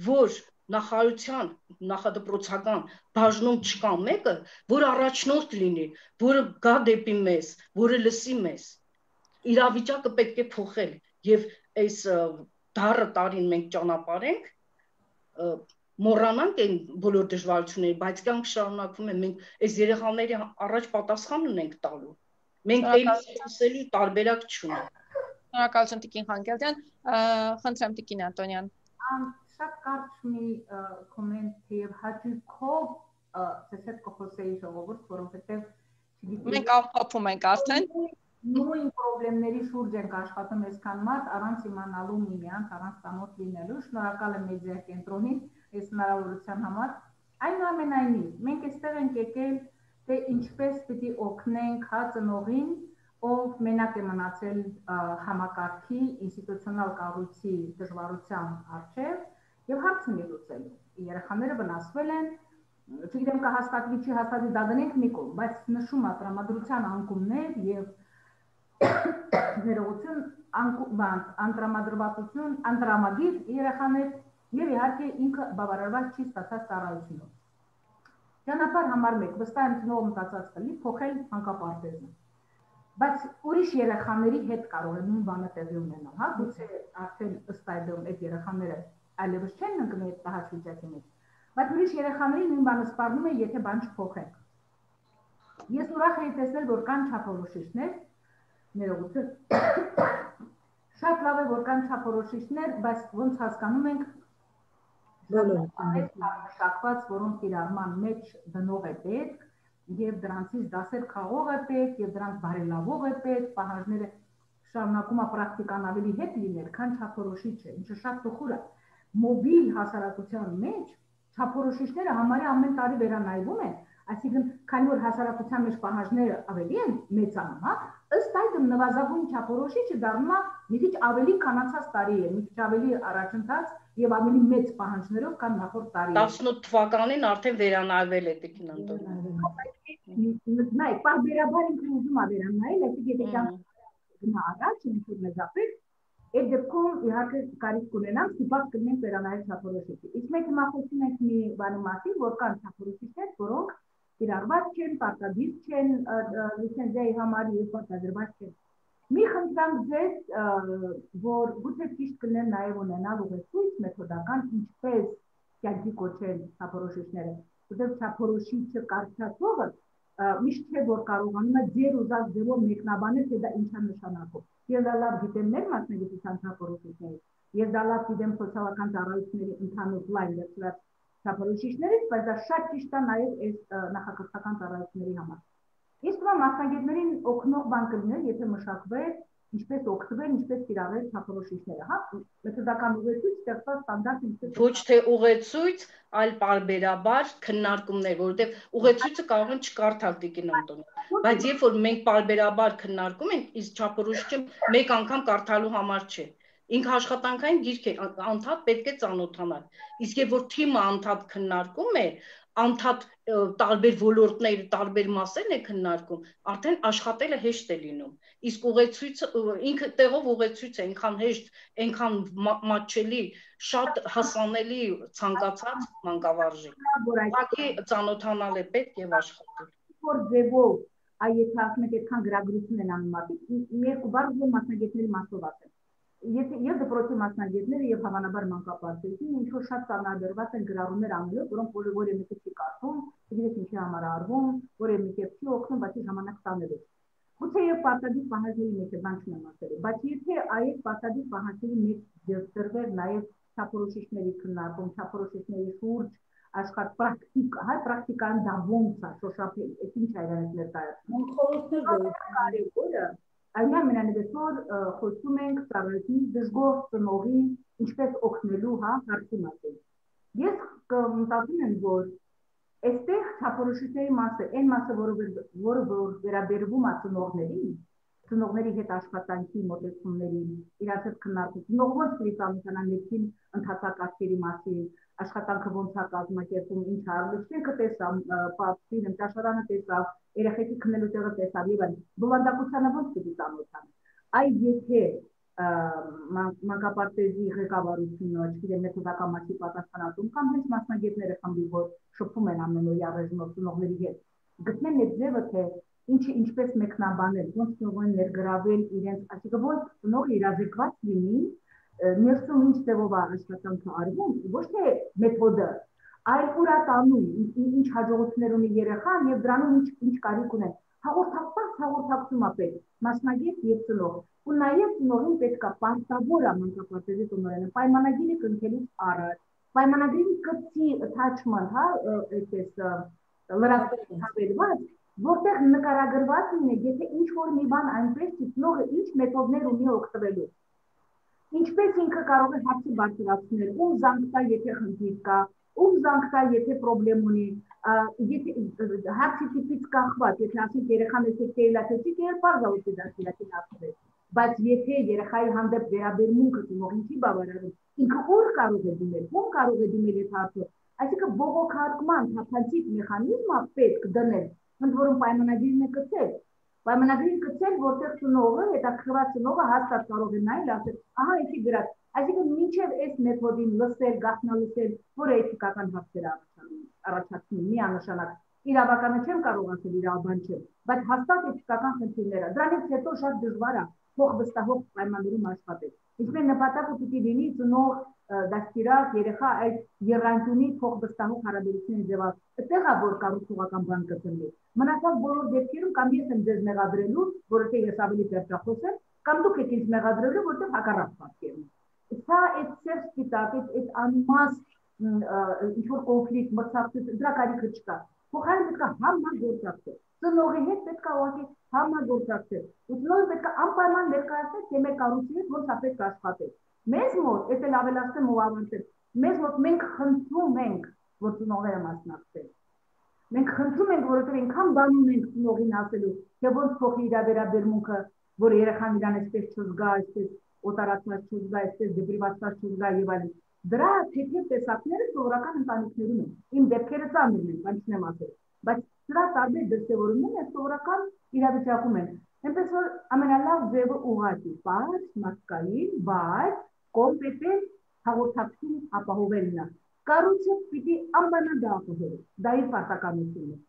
որ նախարարության նախադպրոցական բաժնում չկա մեկը, որ առաջնորդ լինի, որը գա դեպի մեզ, որը լսի մեզ։ Իրավիճակը պետք է փոխել եւ այս դառը տարին մենք ճանապարհենք, մոռանանք այն բոլոր դժվարությունները, բայց կյանք շարունակվում է, մենք այս երեխաների առաջ պատասխան ունենք տալու։ Մենք այլսելու տարբերակ չունենք։ Շնորհակալություն Տիկին Խանգելյան, խնդրեմ Տիկին Անտոնյան։ Շատ կարճ մի կոմենտ եւ հաճույքով ես հետ կխոսեի ժողովուրդ, որովհետեւ մենք ամփոփում ենք արդեն նույն խնդիրների շուրջ ենք աշխատում այսքան մարդ առանց իմանալու միմյանց, առանց ծանոթ լինելու։ Շնորհակալ եմ մեդիա կենտրոնին այս հնարավորության համար։ Այնուամենայնիվ, մենք այստեղ ենք եկել, թե ինչպես պիտի օգնենք ծնողին, ով մենակ է մնացել համակարգի ինստիտուցիոնալ կառույցի դժվարության առջև եւ հարց ունի լուծելու։ Երեխաները վնասվել են, չգիտեմ կա հաստատվի չի հաստատվի դա դնենք մի կողմ, բայց նշում է տրամադրության անկումներ եւ ներողություն անտրամադրվածություն, անտրամադիր երեխաներ եւ իհարկե ինքը բավարարված չի ստացած ծառայությունով։ Ճանապարհ համար 1 վստահ եմ ծնողը մտածած կլինի փոխել մանկապարտեզը։ Բայց ուրիշ երեխաների հետ կարող է նույն բանը տեղի ունենալ, հա, գուցե արդեն ըստ այդմ այդ երեխաները այլևս չեն ընկնի այդ տհաճ վիճակի մեջ, բայց ուրիշ երեխաների նույն բանը սպառնում է, եթե բան չփոխենք։ Ես ուրախ եմ տեսնել, որ կան չափորոշիչներ, ներողություն, շատ լավ է, որ կան չափորոշիչներ, բայց ոնց հասկանում ենք, այդ մշակված, որոնց կիրառման մեջ դնող է պետք, եւ դրանցից դասեր քաղող է պետք, եւ դրանք բարելավող է պետք, պահանջները շարունակում է պրակտիկան ավելի հետ լինել, քան չափորոշիչ է, ինչը շատ տխուր է։ Մոբիլ հասարակության մեջ չափորոշիչները համարյա ամեն տարի վերանայվում են, այսինքն քանի որ հասարակության մեջ պահանջները ավելի են մեծանում, հա, ըստ այդմ նվազագույն չափորոշիչը դառնում է մի քիչ ավելի քանացած տարի է, մի քիչ ավելի առաջընթաց եւ ավելի մեծ պահանջներով կան նախորդ տարի։ 18 թվականին արդեն վերանայվել է Տիկին Անտոնյան։ Նայ, պարբերաբար ինքը ուզում է վերանայել, այսինքն եթե կյանք գնա առաջ, ինչ-որ մեծապես, այդ դեպքում իհարկե կարիք կունենանք, ստիպված կլինենք վերանայել չափորոշիչը։ Իսկ մենք հիմա խոսում ենք մի բանի մասին, որ կան չափորոշիչներ, որոնք կիրառված չեն, պարտադիր չեն լիցենզիայի համար եւ պարտադրված չեն։ Մի խնդրանք ձեզ, որ գուցե ճիշտ կլինեն նաեւ ունենալ ուղեցույց մեթոդական, ինչպես կյանքի կոչել չափորոշիչները, որտեղ չափորոշիչը կարճացողը միշտ չէ որ կարողանում է ձեր ուզած ձևով մեկնաբանել, թե դա ինչ է նշանակում։ Ես դա լավ գիտեմ մեր մասնագիտության չափորոշիչներից, ես դա լավ գիտեմ սոցիալական ծառայությունների ընդհանուր լայն վերցրած չափորոշիչներից, բայց դա շատ ճիշտ է նաև այս նախակրթական ծառայությունների համար։ Իսկ նա մասնագետներին օգնող բան կլիներ, եթե մշակվեր ինչպես օգտվել, ինչպես կիրառել չափորոշիչները, հա, մեթոդական ուղեցույց ստեղծված ստանդարտ ինչպես ոչ թե ուղեցույց, այլ պարբերաբար քննարկումներ, որովհետև ուղեցույցը կարող են չկարդալ Տիկին Անտոնյան, բայց երբ որ մենք պարբերաբար քննարկում ենք, իսկ չափորոշիչը մեկ անգամ կարդալու համար չէ։ Ինքը աշխատանքային գիրք է, անդադ պետք է ծանոթանալ։ Իսկ երբ որ թիմը անդադ քննարկում է, անդադ տարբեր ոլորտներ, տարբեր մասեր է քննարկում, արդեն աշխատելը հեշտ է լինում։ իսկ ուղեցույցը ինքը տեղով ուղեցույց է, այնքան հեշտ, այնքան մատչելի, շատ հասանելի ցանկացած մանկավարժի։ Ուղղակի ծանոթանալ է պետք եւ աշխատել։ Որ ձևով այ եթե ասում եք այդքան գրագրություն են անում մարդիկ, երկու բառ ուզում մասնագետների մասով ասեմ։ Եվ դպրոցի մասնագետները եւ հավանաբար մանկապարտեզին ինչ որ շատ ծանրաբերված են գրառումներ անելով, որոնք որևէ մեկը չի կարդում, չգիտես ինչի համար արվում, որևէ մեկը չի օգնում, բացի ժամանակ տանելու։ Գուցե եւ պարտադիր պահանջների մեջ է բան չեմ ասել, բայց եթե այդ պարտադիր պահանջների մեջ դրվեր նաեւ չափորոշիչների քննարկում, չափորոշիչների շուրջ աշխարհ պրակտիկա, հայ պրակտիկան դա ոնց է, շոշափել, այդ ինչ է իրենից ներկայացնում։ Խորհուրդներ կարևորը Այն ամենանևս որ խոսում ենք ծառայությունի դժգոհ ծնողի ինչպես օգնելու հարցի մասին։ Ես մտածում եմ, որ այստեղ չափորոշիչների մասը, այն մասը, որը վերաբերվում է ծնողների հետ աշխատանքի մոտեցումներին, իրաց հետ քննարկում, ծնողը ոնց պետք է ծանոթանա ներքին ընթացակարգերի մասին, աշխատանքը ոնց է կազմակերպում, ինչ արժեքը տեսավ, պատվին ճաշարանը տեսավ, երեխեքի քննելու տեղը տեսավ եւ այլն։ Բովանդակությանը ոնց պետք է ծանոթանա։ Այ եթե մանկապարտեզի ղեկավարությունը, չգիտեմ, մեթոդական մասի պատասխանատուն կամ հենց մասնագետները խմբի, որ շփում են ամենօրյա ռեժիմով ծնողների հետ, գտնեն այդ ձևը, թե ինչը ինչպես մեկնաբանել, ոնց ծնողին ներգրավել իրենց, այսինքն ոնց ծնողը իրազեկված լինի, ներսում ինչ ձևով է աշխատանքը արվում, ոչ թե մեթոդը, այլ ուր է տանում, ինչ հաջողություններ ունի երեխան եւ դրանում ինչ կարիք ունեն։ Հաղորդակցում է պետք, մասնագետ եւ ծնող։ Ու նաեւ ծնողին պետք է պարտավոր է մանկապարտեզի տնօրենը պայմանագիրը կնքելուց առաջ, պայմանագրի կցի attachment, այդպես լրացված, որտեղ նկարագրված լինի, եթե ինչ որ մի բան այնպես ծնողը ինչ մեթոդներ ունի օգտվելու։ Ինչպես ինքը կարող է հարցը բարձրացնել, ում զանգ տա, եթե խնդիր կա, ում զանգ տա, եթե պրոբլեմ ունի, եթե հարցի տիպից կախված, եթե ասենք երեխան էսեք կեյլաթեցիկ, պարզ է ուտի դասիրակին ասվել, բայց եթե երեխայի հանդեպ վերաբերմունքը ծնողին չի բավարարում, ինքը ուր կարող է դիմել, ում կարող է դիմել այդ հարցը, այսինքն բողոքարկման թափանցիկ մեխանիզմը պետք դնել, ընդ որում պայմանագիրն է կցել, պայմանագրին կցել, որտեղ ծնողը, հետաքրքրված ծնողը հաստատ կարող է նայել, ասել, ահա էսի գրած, այսինքն մինչև այս մեթոդին լսել, գաղտնալսել, որը էթիկական հարցեր առաջացնում, միանշանակ, իրավականը չեմ կարող ասել, իրավաբան չեմ, բայց հաստատ էթիկական խնդիրները, դրանից հետո շատ դժվար է փող վստահող պայմաններում աշխատել։ Ինչպես նպատակը պիտի լինի ծնող դաստիարակ երեխա այդ եռանկյունի փող վստահող հարաբերությունների ձևով։ Այդտեղ է որ կառուցողական բան կծնվի։ Մնացած բոլոր դեպքերում կամ ես եմ ձեզ մեղադրելու, որովհետեւ ես ավելի պերճախոս եմ, կամ դուք եք ինձ մեղադրելու, որովհետեւ հակառակ պատկերն է։ Սա այդ սերտիտատ, այդ անմաստ ինչ որ կոնֆլիկտ, մրցակցություն, դրա կարիքը չկա։ Փոխարենը պետք է համագործակցել։ Ծնողի հետ պետք է ուղղակի համագործակցել։ Ու ծնողը պետք է անպայման ներկայացնել, թե մեր կառույցի հետ ոնց է պետք աշխատել։ Մեզ մոտ, ես էլ ավելացնեմ ու ավարտեմ, մեզ մոտ մենք խնդրում ենք, որ ծնողները մասնակցեն։ Մենք խնդրում ենք, որովհետև այնքան բան ունենք ծնողին ասելու, թե ոնց փոխի իր վերաբերմունքը, որ երեխան իրան այսպես չզգա, այսպես օտարացված չզգա, այսպես դեպրիվացված չզգա եւ այլն։ Դրա թեթև տեսակները սովորական ընտանիքներում են։ Իմ դեպքերը ծանր են, բան չեմ ասել, բայց դրա տարբեր դրսևորումները սովորական իրավիճակում են։ Այնպես որ ամենալավ ձևը ուղղակի, բաց, մարդկային, բայց կոմպետենտ հաղորդակցություն ապահովելն է։ Կառույցը պիտի անպայման դա ապահովի, դա իր պարտականությունն է։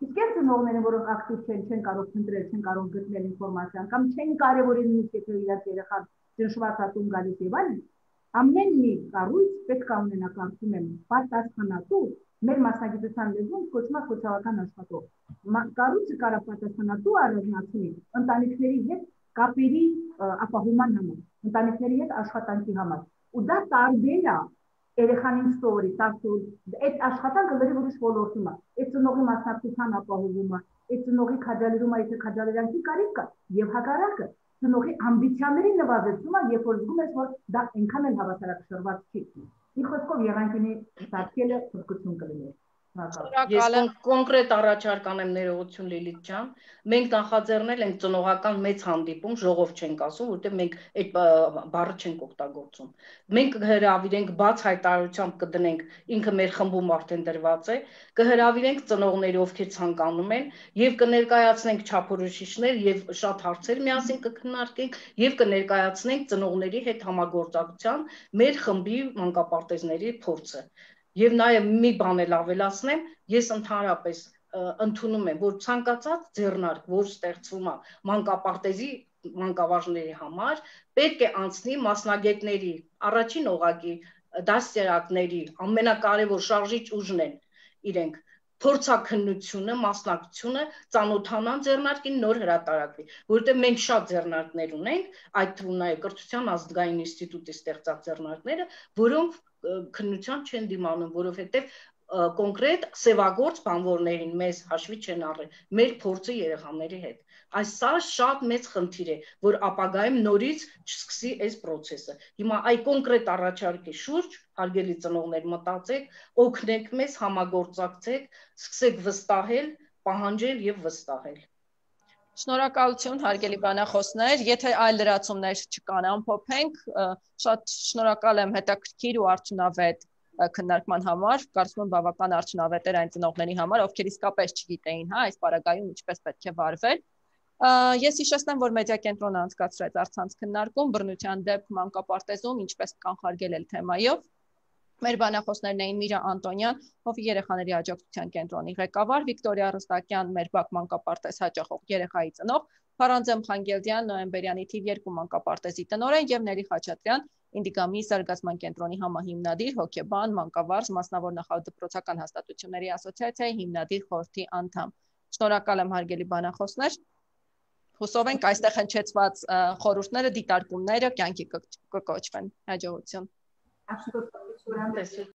Իսկ այն ծնողները, որոնք ակտիվ չեն կարող փնտրել, չեն կարող գտնել ինֆորմացիան կամ չեն կարևորել նույնիսկ եթե իրաց երեխան ճնշված ատում գալիս եւ այլն, ամեն մի կառույց պետք է ունենա կարծում եմ պատասխանատու, մեր մասնագիտության լեզուն կոչվում է սոցիալական աշխատող։ Կառույցը կարող է պատասխանատու առանձնացնել ընտանիքների հետ կապերի ապահովման համար, ընտանիքների հետ աշխատանքի համար։ Ու դա տարբեր է երեխանին ստորի, այդ աշխատանքը լրիվ ուրիշ ոլորտում է, այդ ծնողի մասնակցության ապահովումը, այդ ծնողի քաջալերումը, եթե քաջալերանքի կարիք կա, եւ հակառակը ծնողի ամբիցիաների նվազեցումը, երբ որ զգում ես, որ դա այնքան էլ հավասարակշռված չի։ Մի խոսքով եղանակի սարքելը փրկություն կլիներ։ Ես կոնկրետ առաջարկ անեմ ներողություն Լիլիթ ջան, մենք նախաձեռնել ենք ծնողական մեծ հանդիպում, ժողով չենք ասում, որտեղ մենք այդ բառը չենք օգտագործում։ Մենք կհրավիրենք բաց հայտարարությամբ կդնենք, ինքը մեր խմբում արդեն դրված է, կհրավիրենք ծնողների, ովքեր ցանկանում են, եւ կներկայացնենք չափորոշիչներ եւ շատ հարցեր միասին կքննարկենք եւ կներկայացնենք ծնողների հետ համագործակցության մեր խմբի մանկապարտեզների փորձը։ Եվ նաև մի բան էլ ավելացնեմ, ես ընդհանրապես ընդունում եմ, որ ցանկացած ձեռնարկ, որ ստեղծվում է մանկապարտեզի մանկավարժների համար, պետք է անցնի մասնագետների, առաջին օղակի դաստիարակների, ամենակարևոր շարժիչ ուժն են իրենք, փորձաքննությունը, մասնակցությունը, ծանոթանան ձեռնարկին, նոր հրատարակվի, որովհետև մենք շատ ձեռնարկներ ունենք, այդ թվում նաև կրթության ազգային ինստիտուտի ստեղծած ձեռնարկները, որոնք քննության չեն դիմանում, որովհետև կոնկրետ սևագործ բանվորներին մեզ հաշվի չեն առել, մեր փորձը երեխաների հետ։ Այս սա շատ մեծ խնդիր է, որ ապագայում նորից չսկսի այս process-ը։ Հիմա այ կոնկրետ առաջարկի շուրջ, հարգելի ծնողներ, մտածեք, օգնեք մեզ, համագործակցեք, սկսեք վստահել, պահանջել եւ վստահել։ Շնորհակալություն, հարգելի բանախոսներ, եթե այլ լրացումներ չկան, ամփոփենք, շատ շնորհակալ եմ հետաքրքիր ու արդյունավետ քննարկման համար, կարծում եմ բավական արդյունավետ էր այն ծնողների համար, ովքեր իսկապես չգիտեին, հա, այս պարագայում ինչպես պետք է վարվել։ Ես հիշեցնեմ, որ մեդիա կենտրոնը անցկացրեց առցանց քննարկում բռնության դեպք մանկապարտեզում, ինչպես կանխարգելել թեմայով։ Մեր բանախոսներն էին Միրա Անտոնյան, Հովի երեխաների աջակցության կենտրոնի ղեկավար, Վիկտորիա Ռստակյան, մեր բակ մանկապարտեզ հաճախող երեխայի ծնող, Փարանձեմ Խանգելդյան, Նոյեմբերյանի թիվ 2 մանկապարտեզի տնօրեն եւ Նելի Խաչատրյան, Ինդիգամի զարգացման կենտրոնի համահիմնադիր, հոգեբան, մանկավարժ, մասնավոր նախադպրոցական հաստատությունների ասոցիացիայի հիմնադիր խորհրդի անդամ։ Շնորհակալ եմ, հարգելի բանախոսներ։ Հուսով ենք այստեղ հնչեցված խորհուրդները, դիտարկումները կյանքի կկոչվեն։ Հաջողություն։